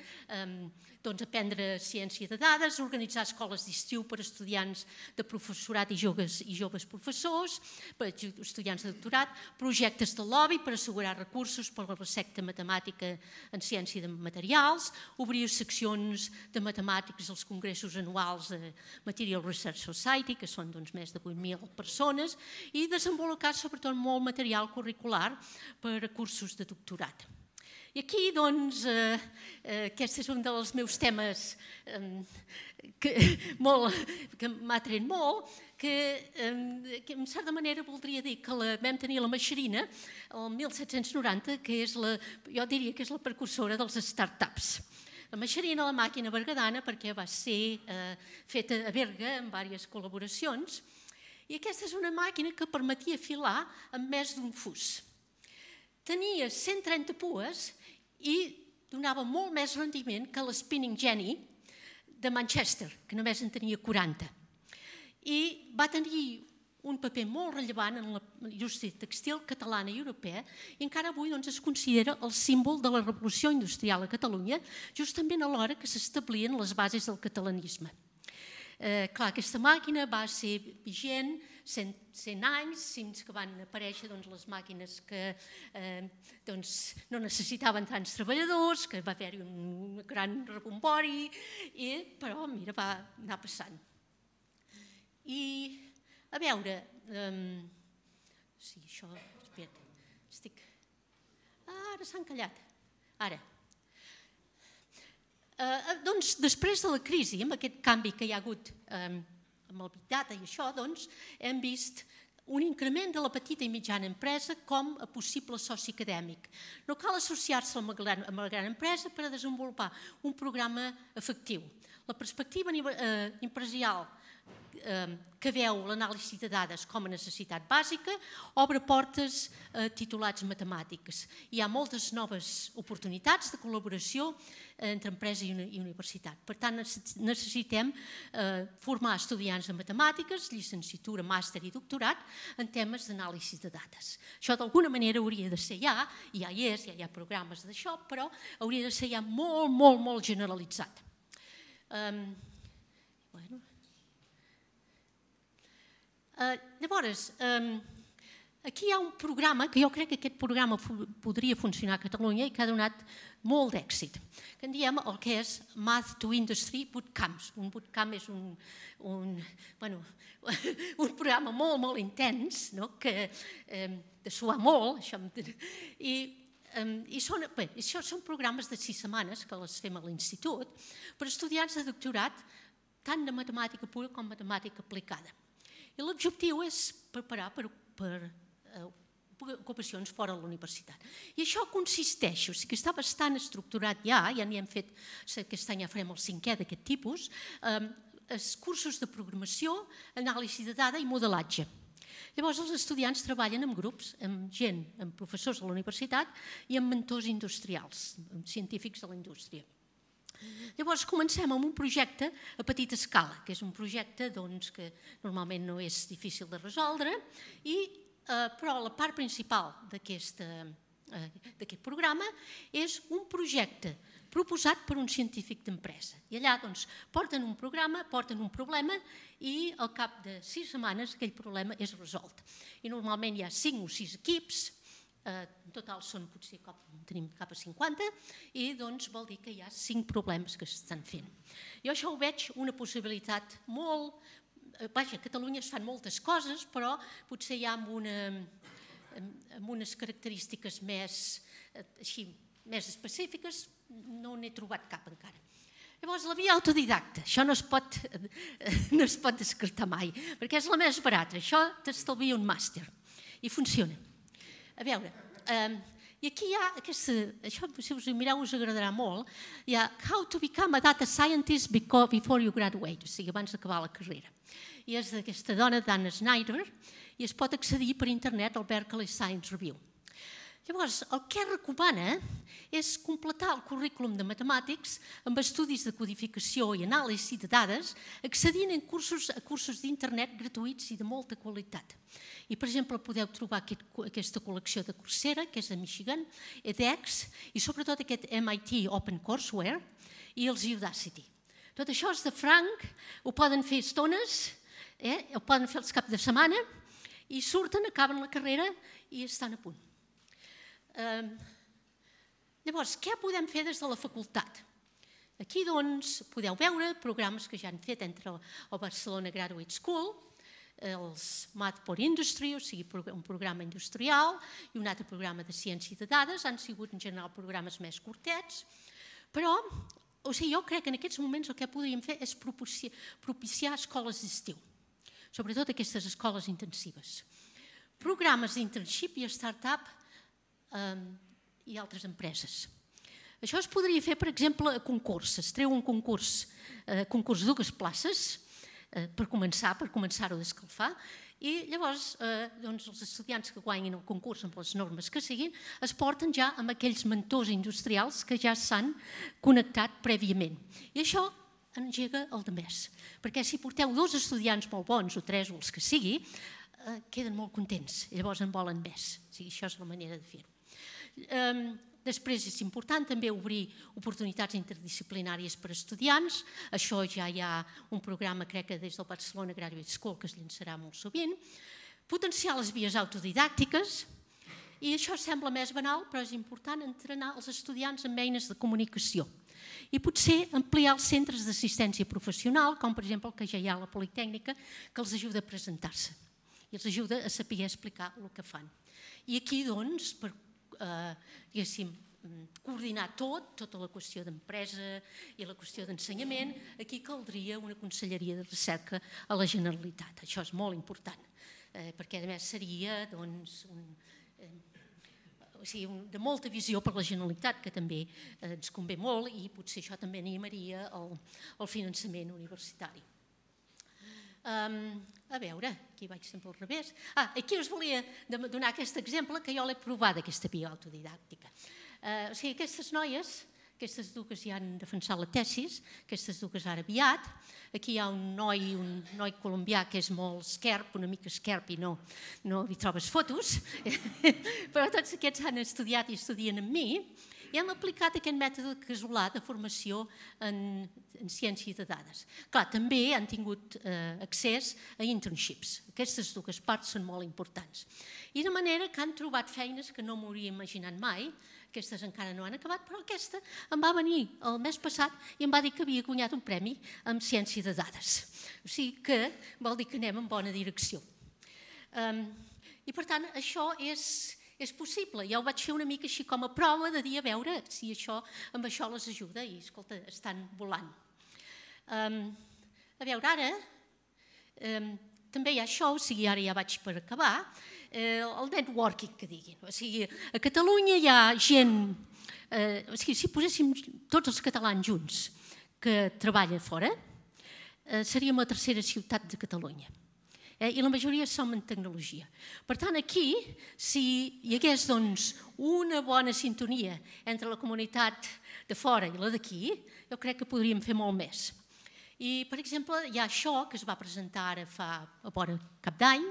aprendre ciència de dades, organitzar escoles d'estiu per a estudiants de professorat i joves professors, per a estudiants de doctorat, projectes de lobby per assegurar recursos per a la recerca matemàtica en ciència de materials, obrir seccions de matemàtics als congressos anuals de Material Research Society, que són més de vuit mil persones, i desenvolupar sobretot molt material curricular per a cursos de doctorat. I aquí, doncs, aquest és un dels meus temes que m'ha tret molt, que en certa manera voldria dir que vam tenir la Maxerina el mil set-cents noranta, que jo diria que és la precursora dels startups. La Maxerina, la màquina bergadana, perquè va ser feta a Berga en diverses col·laboracions, i aquesta és una màquina que permetia filar amb més d'un fus. Tenia cent trenta pues i donava molt més rendiment que l'Spinning Jenny de Manchester, que només en tenia quaranta. I va tenir un paper molt rellevant en la indústria textil catalana i europea i encara avui doncs, es considera el símbol de la revolució industrial a Catalunya, justament a l'hora que s'establien les bases del catalanisme. Eh, clar, aquesta màquina va ser vigent cent, cent anys, fins que van aparèixer doncs, les màquines que eh, doncs, no necessitaven tants treballadors, que va haver-hi un gran rebombori, i, però mira, va anar passant. I, a veure, eh, sí, això, espera, estic... Ah, ara s'han callat, ara. Eh, doncs, després de la crisi, amb aquest canvi que hi ha hagut eh, amb el Big Data i això, doncs, hem vist un increment de la petita i mitjana empresa com a possible soci acadèmic. No cal associar-se amb la gran empresa per a desenvolupar un programa efectiu. La perspectiva eh, empresarial eh, que veu l'anàlisi de dades com a necessitat bàsica obre portes a titulats matemàtics. Hi ha moltes noves oportunitats de col·laboració entre empresa i universitat. Per tant, necessitem eh, formar estudiants en matemàtiques, llicenciatura, màster i doctorat en temes d'anàlisi de dades. Això d'alguna manera hauria de ser ja, ja hi és, ja hi ha programes d'això, però hauria de ser ja molt, molt, molt generalitzat. Um, bueno. uh, llavors, um, aquí hi ha un programa, que jo crec que aquest programa podria funcionar a Catalunya i que ha donat molt d'èxit, que en diem el que és Math to Industry Bootcamps. Un bootcamp és un, un, bueno, un programa molt, molt intens, no? Que, eh, de suar molt, això, i, eh, i són, bé, això són programes de sis setmanes que les fem a l'institut per estudiants de doctorat tant de matemàtica pura com matemàtica aplicada. I l'objectiu és preparar per, per eh, ocupacions fora de la universitat. I això consisteix, o sigui que està bastant estructurat ja, ja n'hi hem fet, aquest any ja farem el cinquè d'aquest tipus, eh, els cursos de programació, anàlisi de dada i modelatge. Llavors els estudiants treballen en grups, amb gent, amb professors de la universitat i amb mentors industrials, amb científics de la indústria. Llavors comencem amb un projecte a petita escala, que és un projecte doncs, que normalment no és difícil de resoldre, i, eh, però la part principal d'aquest eh, programa és un projecte proposat per un científic d'empresa. I allà doncs, porten un programa, porten un problema i al cap de sis setmanes aquell problema és resolt. I normalment hi ha cinc o sis equips, eh, en total són potser cap, tenim cap a cinquanta, i doncs vol dir que hi ha cinc problemes que s'estan fent. Jo això ho veig una possibilitat molt... Vaja, a Catalunya es fan moltes coses, però potser hi ha amb, una, amb unes característiques més, així, més específiques, no n'he trobat cap encara. Llavors, la via autodidacta, això no es pot, no es pot descartar mai, perquè és la més barata, això t'estalvia un màster, i funciona. A veure, eh, i aquí hi ha, aquesta, això si us ho mireu us agradarà molt, hi ha How to become a data scientist before you graduate, o sigui, abans d'acabar la carrera. I és d'aquesta dona, Dana Snyder, i es pot accedir per internet al Berkeley Science Review. Llavors, el que recomana és completar el currículum de matemàtics amb estudis de codificació i anàlisi de dades, accedint a cursos, a cursos d'internet gratuïts i de molta qualitat. I, per exemple, podeu trobar aquest, aquesta col·lecció de Coursera, que és de Michigan, edX, i sobretot aquest M I T OpenCourseWare i els Udacity. Tot això és de franc, ho poden fer estones, eh? Ho poden fer els caps de setmana, i surten, acaben la carrera i estan a punt. Uh, llavors, què podem fer des de la facultat? Aquí doncs podeu veure programes que ja han fet entre el Barcelona Graduate School, els Math for Industry, o sigui, un programa industrial, i un altre programa de ciència de dades, han sigut en general programes més curtets, però o sigui, jo crec que en aquests moments el que podríem fer és propiciar, propiciar escoles d'estiu, sobretot aquestes escoles intensives. Programes d'internship i startup i altres empreses. Això es podria fer, per exemple, a concurs. Es treu un concurs, concurs de dues places per començar, per començar-ho a descalfar, i llavors els estudiants que guanyin el concurs amb les normes que siguin es porten ja amb aquells mentors industrials que ja s'han connectat prèviament. I això engega el de més, perquè si porteu dos estudiants molt bons, o tres o els que sigui, queden molt contents, llavors en volen més. O sigui, això és la manera de fer-ho. Després és important també obrir oportunitats interdisciplinàries per a estudiants. Això ja hi ha un programa, crec que des del Barcelona Graduate School, que es llançarà molt sovint. Potenciar les vies autodidàctiques. I això sembla més banal, però és important entrenar els estudiants amb eines de comunicació. I potser ampliar els centres d'assistència professional, com per exemple el que ja hi ha a la Politècnica, que els ajuda a presentar-se i els ajuda a saber explicar el que fan. I aquí, doncs, per diguéssim, coordinar tot, tota la qüestió d'empresa i la qüestió d'ensenyament, aquí caldria una conselleria de recerca a la Generalitat. Això és molt important, perquè a més seria de molta visió per la Generalitat, que també ens convé molt, i potser això també animaria el finançament universitari. A veure, aquí vaig sempre al revés. Ah, aquí us volia donar aquest exemple que jo l'he provat, aquesta via autodidàctica. O sigui, aquestes noies, aquestes dues ja han defensat la tesis, aquestes dues ara aviat. Aquí hi ha un noi, un noi colombià que és molt esquerp, una mica esquerp i no hi trobes fotos, però tots aquests han estudiat i estudien amb mi i hem aplicat aquest mètode casolà de formació en ciència de dades. Clar, també han tingut accés a internships. Aquestes dues parts són molt importants. I de manera que han trobat feines que no m'hauria imaginat mai. Aquestes encara no han acabat, però aquesta em va venir el mes passat i em va dir que havia guanyat un premi en ciència de dades. O sigui que vol dir que anem en bona direcció. I per tant, això és... és possible. Ja ho vaig fer una mica així com a prova de dir a veure si amb això les ajuda i, escolta, estan volant. A veure, ara també hi ha això, o sigui, ara ja vaig per acabar, el networking, que diguin. O sigui, a Catalunya hi ha gent, o sigui, si poséssim tots els catalans junts que treballen fora, seríem la tercera ciutat de Catalunya. I la majoria som en tecnologia. Per tant, aquí, si hi hagués una bona sintonia entre la comunitat de fora i la d'aquí, jo crec que podríem fer molt més. I, per exemple, hi ha això que es va presentar ara fa a vora cap d'any,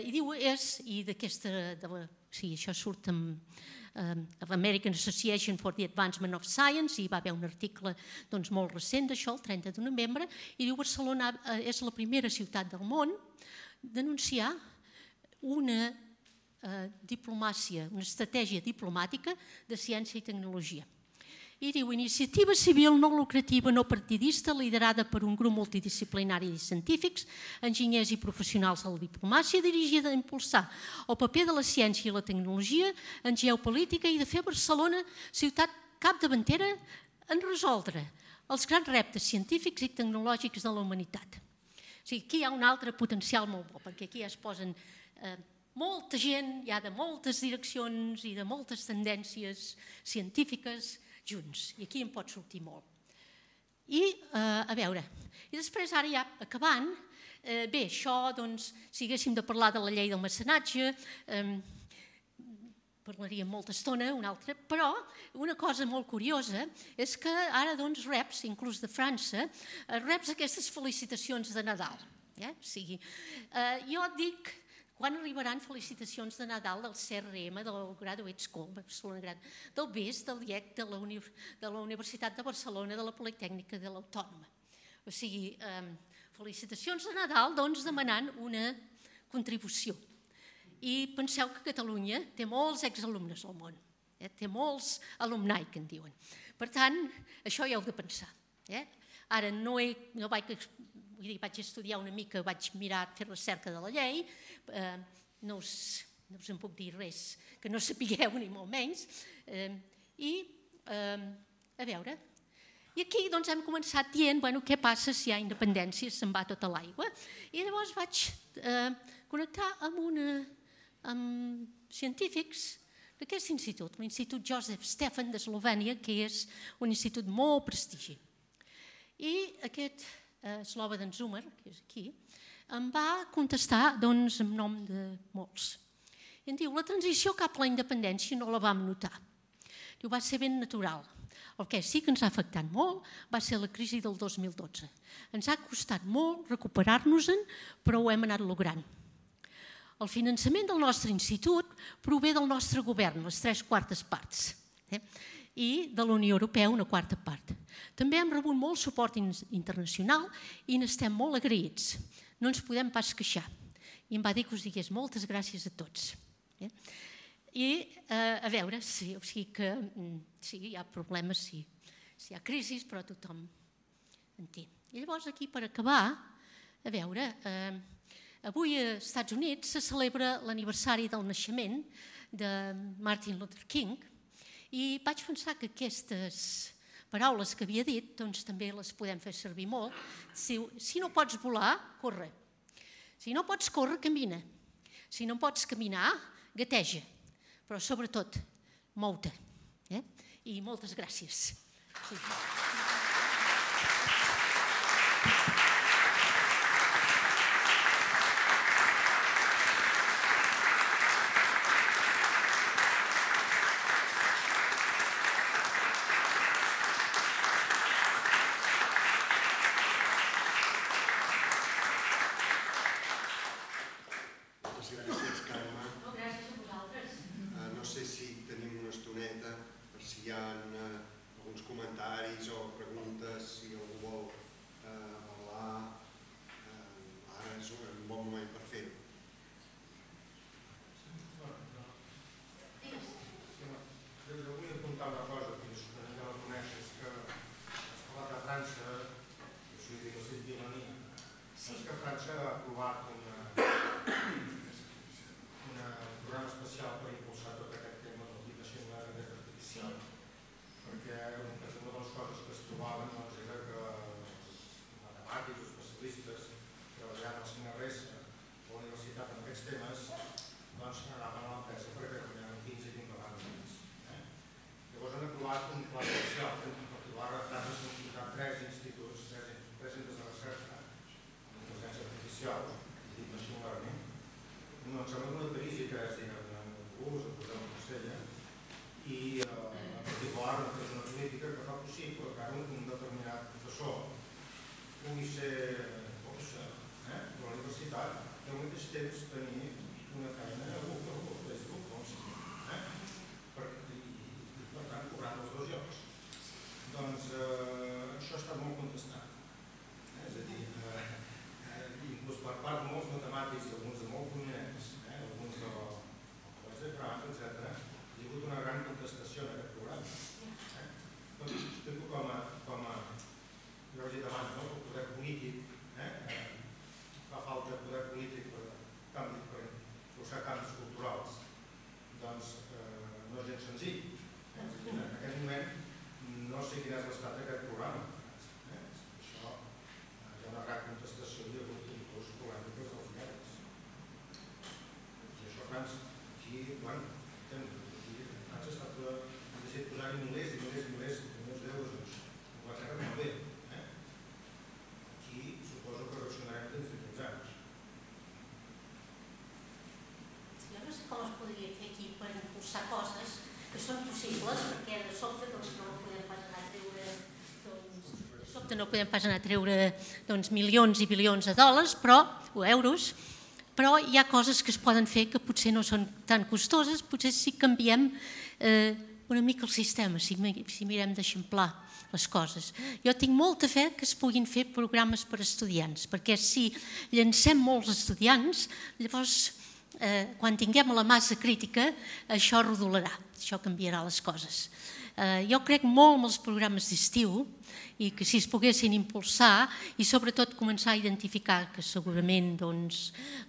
i diu, és, i d'aquesta, o sigui, això surt amb l'American Association for the Advancement of Science, i va haver un article molt recent d'això, el trenta de novembre, i diu Barcelona és la primera ciutat del món d'anunciar una diplomàcia, una estratègia diplomàtica de ciència i tecnologia. I diu, iniciativa civil no lucrativa, no partidista, liderada per un grup multidisciplinari de científics, enginyers i professionals de la diplomàcia, dirigida a impulsar el paper de la ciència i la tecnologia en geopolítica i de fer Barcelona ciutat capdavantera en resoldre els grans reptes científics i tecnològics de la humanitat. O sigui, aquí hi ha un altre potencial molt bo, perquè aquí ja es posen molta gent, ja de moltes direccions i de moltes tendències científiques junts, i aquí en pot sortir molt. I, a veure, i després ara ja acabant, bé, això, doncs, si haguéssim de parlar de la llei del mecenatge, parlaríem molta estona, una altra, però una cosa molt curiosa és que ara, doncs, reps, inclús de França, reps aquestes felicitacions de Nadal. O sigui, jo dic, quan arribaran felicitacions de Nadal del C R M, del Graduate School, del B E S, del I E C, de la Universitat de Barcelona, de la Politècnica, de l'Autònoma. O sigui, felicitacions de Nadal, doncs, demanant una contribució. I penseu que Catalunya té molts exalumnes al món, té molts alumni, que en diuen. Per tant, això ja heu de pensar. Ara no vaig estudiar una mica, vaig mirar, fer recerca de la llei, no us en puc dir res que no sapigueu ni molt menys. I, a veure, i aquí hem començat dient què passa si hi ha independència, se'n va tota l'aigua. I llavors vaig connectar amb una amb científics d'aquest institut, l'Institut Josef Stefan d'Eslovènia, que és un institut molt prestigi. I aquest Slobodan Zumer, que és aquí, em va contestar en nom de molts. I em diu, la transició cap a la independència no la vam notar. Diu, va ser ben natural. El que sí que ens ha afectat molt va ser la crisi del dos mil dotze. Ens ha costat molt recuperar-nos-en, però ho hem anat logrant. El finançament del nostre institut prové del nostre govern, les tres quartes parts, i de la Unió Europea una quarta part. També hem rebut molt suport internacional i n'estem molt agraïts. No ens podem pas queixar. I em va dir que us digués moltes gràcies a tots. I a veure, sí, o sigui que sí, hi ha problemes, sí, hi ha crisis, però tothom en té. I llavors aquí, per acabar, a veure, avui als Estats Units se celebra l'aniversari del naixement de Martin Luther King i vaig pensar que aquestes paraules que havia dit doncs també les podem fer servir molt. Si no pots volar, corre. Si no pots córrer, camina. Si no pots caminar, gateja. Però sobretot, mou-te. I moltes gràcies. Coses que són possibles perquè de sobte no podem pas anar a treure de sobte no podem pas anar a treure milions i bilions de dòlars o euros, però hi ha coses que es poden fer que potser no són tan costoses, potser si canviem una mica el sistema, si mirem d'eixamplar les coses. Jo tinc molta fe que es puguin fer programes per a estudiants, perquè si llancem molts estudiants, llavors quan tinguem la massa crítica, això rodolarà, això canviarà les coses. Jo crec molt en els programes d'estiu i que si es poguessin impulsar i sobretot començar a identificar que segurament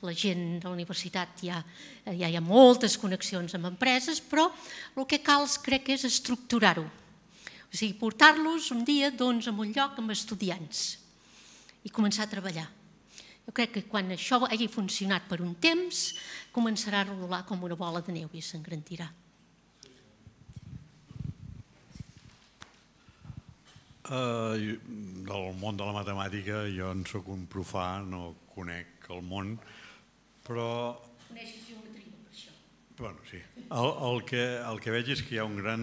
la gent de la universitat ja hi ha moltes connexions amb empreses, però el que cal crec que és estructurar-ho. O sigui, portar-los un dia a un lloc amb estudiants i començar a treballar. Jo crec que quan això hagi funcionat per un temps, començarà a rodolar com una bola de neu i s'engrandirà. Del món de la matemàtica jo en soc un profà, no conec el món, però... Coneixes geometria per això? Bueno, sí. El que veig és que hi ha un gran...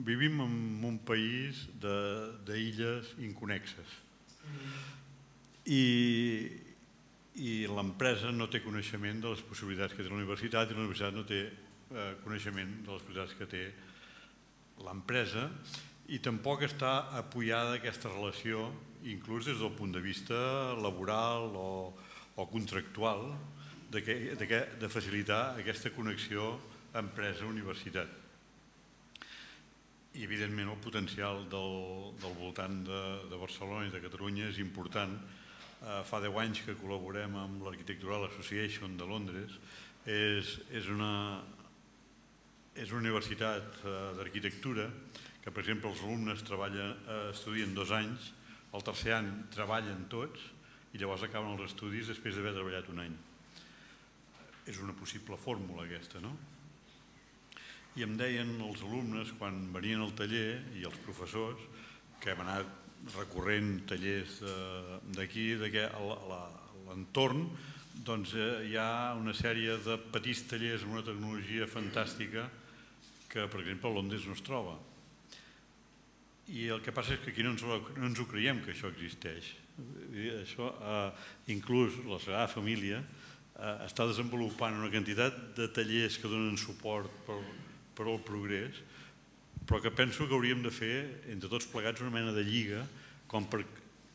Vivim en un país d'illes inconnexes. I i l'empresa no té coneixement de les possibilitats que té la universitat i la universitat no té coneixement de les possibilitats que té l'empresa i tampoc està apoyada aquesta relació, inclús des del punt de vista laboral o contractual, de facilitar aquesta connexió empresa-universitat. I, evidentment, el potencial del voltant de Barcelona i de Catalunya és important. Fa deu anys que col·laborem amb l'Architectural Association de Londres. És una universitat d'arquitectura que, per exemple, els alumnes estudien dos anys, el tercer any treballen tots i llavors acaben els estudis després d'haver treballat un any. És una possible fórmula aquesta, no? I em deien els alumnes, quan venien al taller, i els professors, que hem anat recorrent tallers d'aquí, que a l'entorn hi ha una sèrie de petits tallers amb una tecnologia fantàstica que, per exemple, a Londres no es troba. I el que passa és que aquí no ens ho creiem, que això existeix. Inclús la Sagrada Família està desenvolupant una quantitat de tallers que donen suport per al progrés, però que penso que hauríem de fer, entre tots plegats, una mena de lliga com per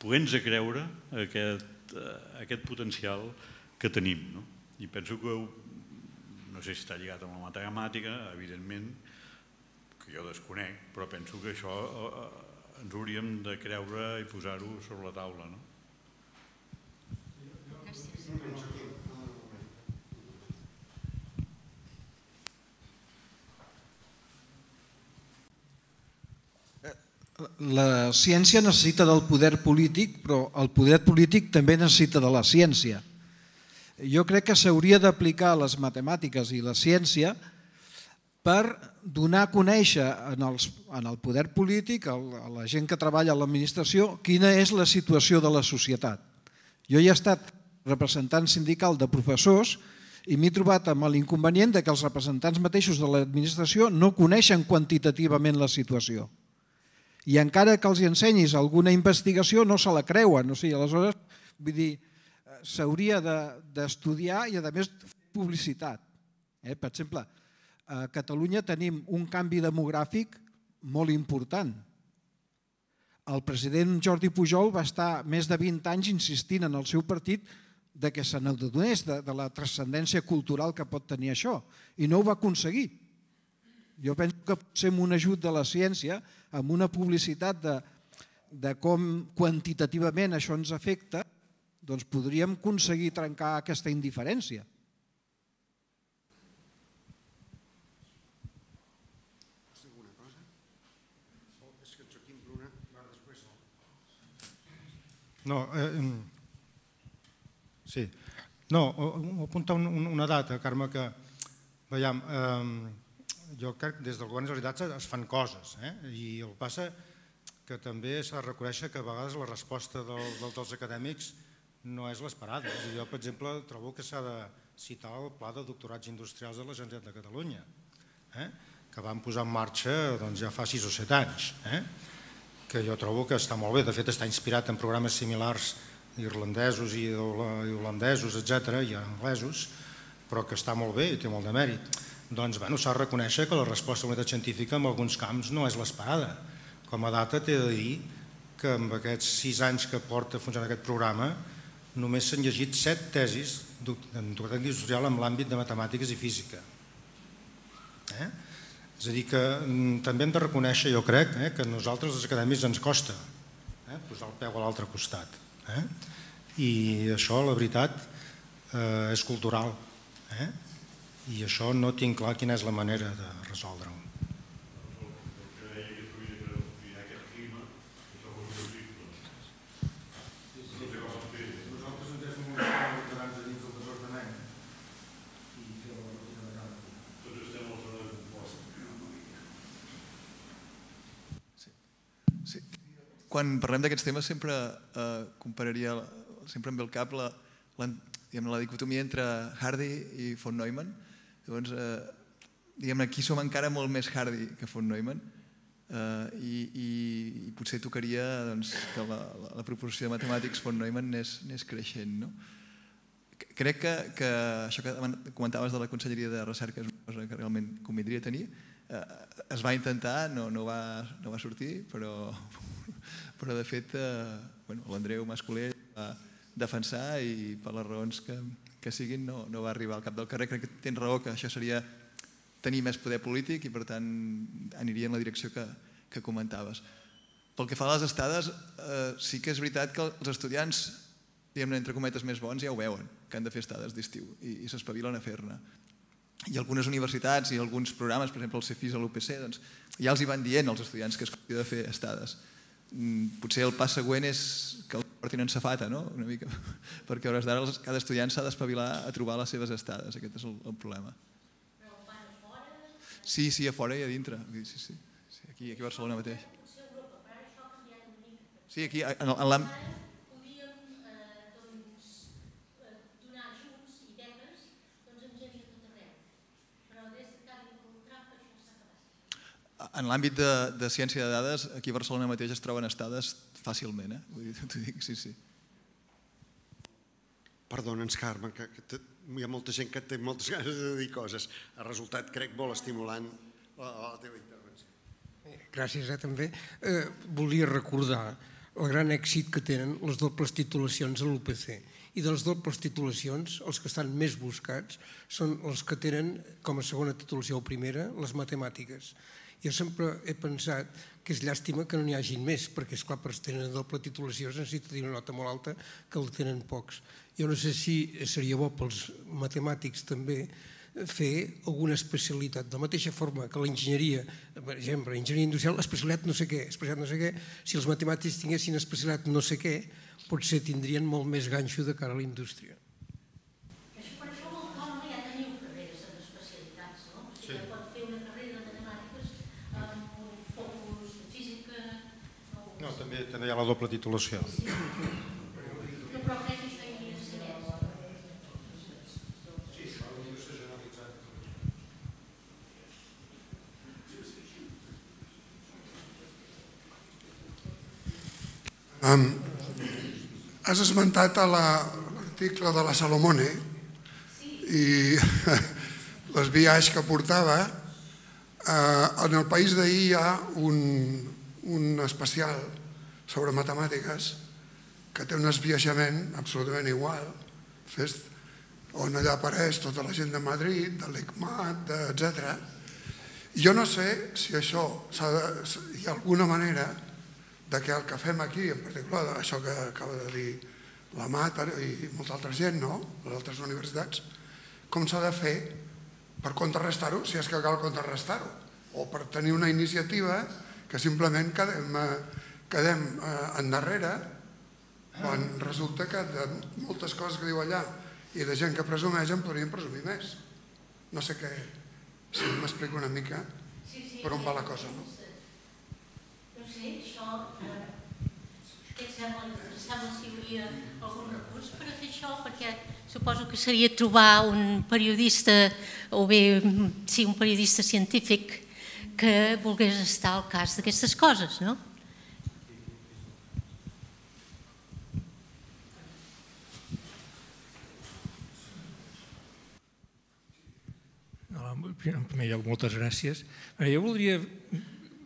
poder-nos creure aquest potencial que tenim. I penso que, no sé si està lligat amb la matemàtica, evidentment, que jo desconec, però penso que això ens hauríem de creure i posar-ho sobre la taula. La ciència necessita del poder polític, però el poder polític també necessita de la ciència. Jo crec que s'hauria d'aplicar les matemàtiques i la ciència per donar a conèixer en el poder polític, a la gent que treballa a l'administració, quina és la situació de la societat. Jo ja he estat representant sindical de professors i m'he trobat amb l'inconvenient que els representants mateixos de l'administració no coneixen quantitativament la situació. I encara que els ensenyis alguna investigació no se la creuen. Aleshores, vull dir, s'hauria d'estudiar i, a més, fer publicitat. Per exemple, a Catalunya tenim un canvi demogràfic molt important. El president Jordi Pujol va estar més de vint anys insistint en el seu partit que se n'adonés de la transcendència cultural que pot tenir això, i no ho va aconseguir. Jo penso que potser amb un ajut de la ciència, amb una publicitat de com quantitativament això ens afecta, doncs podríem aconseguir trencar aquesta indiferència. No, sí. No, apuntar una data, Carme, que, veiem, jo crec que des del govern de la Generalitat es fan coses, i el que passa que també s'ha de reconèixer que a vegades la resposta dels acadèmics no és l'esperada. Jo, per exemple, trobo que s'ha de citar el Pla de Doctorats Industrials de la Generalitat de Catalunya, que van posar en marxa ja fa sis o set anys, que jo trobo que està molt bé. De fet, està inspirat en programes similars irlandesos i holandesos, etcètera, i anglesos, però que està molt bé i té molt de mèrit. Doncs s'ha de reconèixer que la resposta de la comunitat científica en alguns camps no és l'esperada. Com a data t'he de dir que en aquests sis anys que porta funcionant aquest programa només s'han llegit set tesis en doctorat industrial en l'àmbit de matemàtiques i física. És a dir, que també hem de reconèixer, jo crec, que a nosaltres els acadèmics ens costa posar el peu a l'altre costat. I això, la veritat, és cultural. I això no tinc clar quina és la manera de resoldre-ho. Quan parlem d'aquests temes sempre compararia, sempre em ve al cap la dicotomia entre Hardy i von Neumann. Llavors, diguem-ne, aquí som encara molt més Hardy que von Neumann i potser tocaria que la proporció de matemàtics von Neumann anés creixent. crec que, que això que comentaves de la Conselleria de Recerca és una cosa que realment convindria tenir. Eh, es va intentar, no, no, va, no va sortir, però, però de fet eh, bueno, l'Andreu Mascolell va defensar i per les raons que, que siguin no, no va arribar al cap del carrer. Crec que tens raó que això seria tenir més poder polític i per tant aniria en la direcció que, que comentaves. Pel que fa a les estades, eh, sí que és veritat que els estudiants, diguem-ne, entre cometes més bons, ja ho veuen, que han de fer estades d'estiu i, i s'espavilen a fer-ne. I algunes universitats i alguns programes, per exemple el Cefis o l'U P C, doncs, ja els hi van dient als estudiants que es hauria de fer estades. Potser el pas següent és que el portin en safata, no? Una mica, perquè a hores d'ara cada estudiant s'ha d'espavilar a trobar les seves estades. Aquest és el, el problema. Però ho fan a fora? Sí, sí, a fora i a dintre. Sí, sí. Sí, aquí, aquí a Barcelona mateix. Potser a Europa, però ara això ha canviat una mica. Sí, aquí, en l'àmbit... Podíem eh, doncs, eh, donar ajuts i beques doncs, en gent de tot arreu. Però des de Carme Trump això s'ha acabat. En l'àmbit de, de ciència de dades, aquí a Barcelona mateix es troben estades fàcilment, eh? Vull dir, t'ho dic, sí, sí. Perdona'ns, Carme, que, que te, hi ha molta gent que té moltes ganes de dir coses. Ha resultat, crec, molt estimulant la, la teva intervenció. Gràcies, eh, també. Eh, volia recordar el gran èxit que tenen les dobles titulacions a l'U P C. I de les dobles titulacions, els que estan més buscats són els que tenen com a segona titulació o primera les matemàtiques. Jo sempre he pensat que és llàstima que no n'hi hagin més, perquè, esclar, per tenir doble titulació es necessita tenir una nota molt alta que la tenen pocs. Jo no sé si seria bo pels matemàtics també fer alguna especialitat, de la mateixa forma que l'enginyeria, per exemple, enginyeria industrial, especialitat no sé què, especialitat no sé què, si els matemàtics tinguessin especialitat no sé què, potser tindrien molt més ganxo de cara a la indústria. Per això a l'autònoma ja teniu carreres en especialitats, no? O sigui, pot fer una carrera de matemàtiques amb un focus de física... No, també, també hi ha la doble titulació. No, però crec que això hi hauria de ser més. Um, has esmentat l'article de la Salomone i les viatges que portava. Uh, en el país d'ahir hi ha un, un especial sobre matemàtiques que té un esbiaixament absolutament igual, on allà apareix tota la gent de Madrid, de l'ICMAT, etcètera. Jo no sé si això hi ha alguna manera de que el que fem aquí, en particular això que acaba de dir la Mat i molta altra gent, no?, les altres universitats, com s'ha de fer per contrarrestar-ho, si és que cal contrarrestar-ho, o per tenir una iniciativa que simplement quedem, quedem endarrere quan resulta que de moltes coses que diu allà i de gent que presumeix en podríem presumir més. No sé què, si m'explico una mica per on va la cosa, no? No sé, això... Què et sembla? Sembla si hi hauria algun recurs per a fer això? Perquè suposo que seria trobar un periodista, o bé, sí, un periodista científic que volgués estar al cas d'aquestes coses, no? En primer lloc, moltes gràcies. Jo voldria,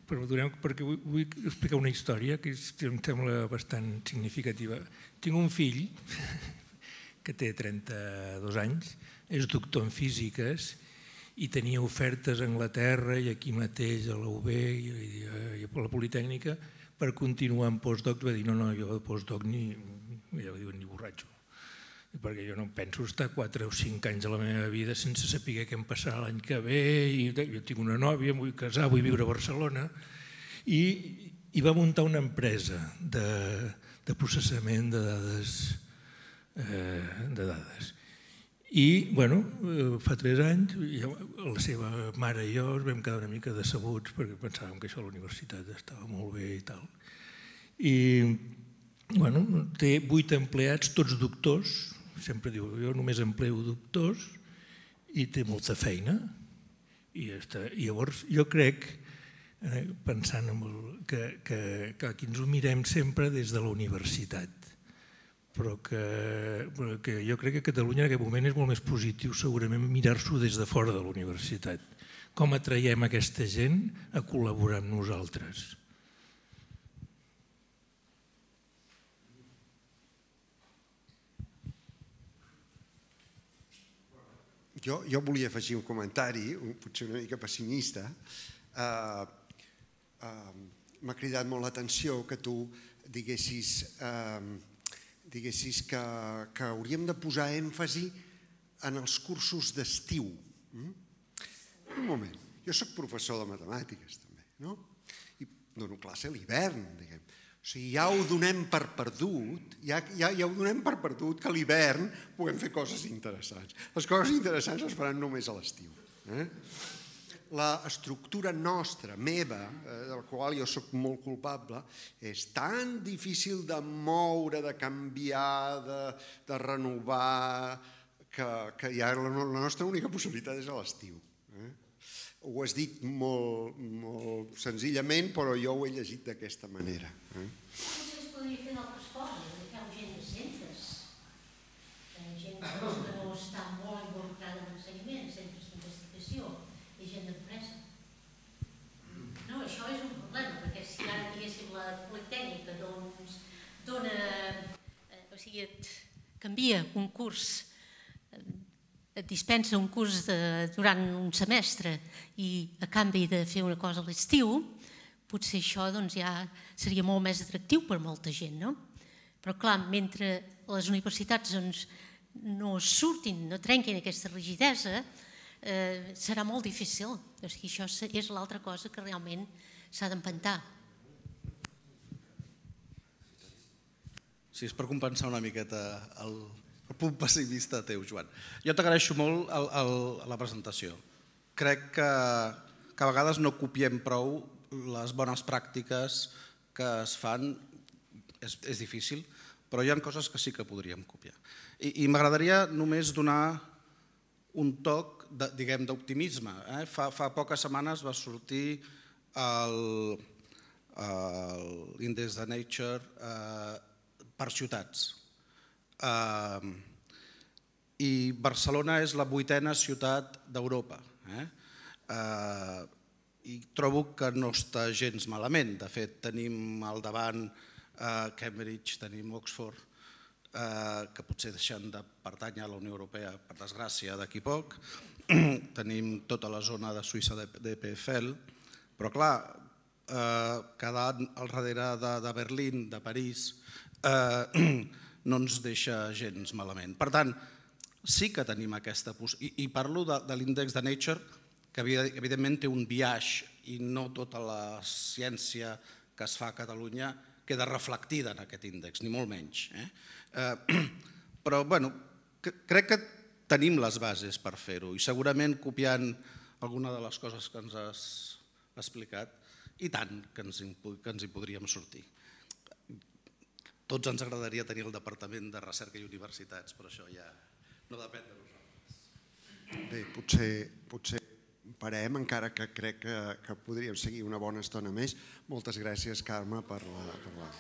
perquè vull explicar una història que em sembla bastant significativa. Tinc un fill que té trenta-dos anys, és doctor en físiques i tenia ofertes a Anglaterra i aquí mateix a la U B i a la Politècnica per continuar en postdoc. Va dir, no, no, jo de postdoc ni, ja ho diuen, ni borratxo, perquè jo no penso estar quatre o cinc anys de la meva vida sense saber què em passarà l'any que ve, i jo tinc una nòvia, em vull casar, vull viure a Barcelona, i, i va muntar una empresa de, de processament de dades, eh, de dades. I, bueno, fa tres anys, la seva mare i jo ens vam quedar una mica decebuts perquè pensàvem que això a la universitat estava molt bé i tal. I, bueno, té vuit empleats, tots doctors, sempre diu, jo només empleo doctors, i té molta feina. I llavors jo crec, pensant que aquí ens ho mirem sempre des de la universitat, però que jo crec que a Catalunya en aquest moment és molt més positiu segurament mirar-s'ho des de fora de la universitat. Com atraiem aquesta gent a col·laborar amb nosaltres? Jo, jo volia afegir un comentari, potser una mica pessimista. Uh, uh, M'ha cridat molt l'atenció que tu diguessis, uh, diguessis que, que hauríem de posar èmfasi en els cursos d'estiu. Mm? Un moment, jo soc professor de matemàtiques també, no? I dono classe a l'hivern, diguem. O sigui, ja ho donem per perdut, ja, ja, ja ho donem per perdut que a l'hivern puguem fer coses interessants. Les coses interessants es faran només a l'estiu. Eh? La estructura nostra, meva, eh, de la qual jo sóc molt culpable, és tan difícil de moure, de canviar, de, de renovar, que, que ja la, la nostra única possibilitat és a l'estiu. Eh? Ho has dit molt, molt senzillament, però jo ho he llegit d'aquesta manera. Eh? Potser es podria fer d'altres coses, de fer gent de centres, gent que no està molt involucrada en l'ensenyament, centres d'investigació i gent d'empresa. No, això és un problema, perquè si ara diguéssim la Politècnica doncs dona, o sigui, et canvia un curs, et dispensa un curs de, durant un semestre i a canvi de fer una cosa a l'estiu, potser això doncs, ja seria molt més atractiu per molta gent, no? Però clar, mentre les universitats doncs, no surtin, no trenquin aquesta rigidesa, eh, serà molt difícil. O sigui, això és l'altra cosa que realment s'ha d'empentar. Sí, és per compensar una miqueta el... el punt pessimista teu, Joan. Jo t'agraeixo molt el, el, la presentació. Crec que, que a vegades no copiem prou les bones pràctiques que es fan. És, és difícil, però hi ha coses que sí que podríem copiar. I, i m'agradaria només donar un toc de, diguem, d'optimisme. Eh? Fa, fa poques setmanes va sortir l'índex de Nature eh, per ciutats. Uh, i Barcelona és la vuitena ciutat d'Europa. Eh? Uh, I trobo que no està gens malament. De fet, tenim al davant uh, Cambridge, tenim Oxford, uh, que potser deixen de pertànyer a la Unió Europea, per desgràcia, d'aquí poc. Tenim tota la zona de Suïssa d'E P F L, però clar, uh, quedant al darrere de, de Berlín, de París, uh, no ens deixa gens malament. Per tant, sí que tenim aquesta possibilitat, i, i parlo de, de l'índex de Nature, que evidentment té un biaix i no tota la ciència que es fa a Catalunya queda reflectida en aquest índex, ni molt menys. Eh? Eh, però, bueno, crec que tenim les bases per fer-ho i segurament copiant alguna de les coses que ens has explicat, i tant que ens, que ens hi podríem sortir. Tots ens agradaria tenir el Departament de Recerca i Universitats, però això ja no depèn de nosaltres. Bé, potser, potser parem, encara que crec que, que podríem seguir una bona estona més. Moltes gràcies, Carme, per la... Per la...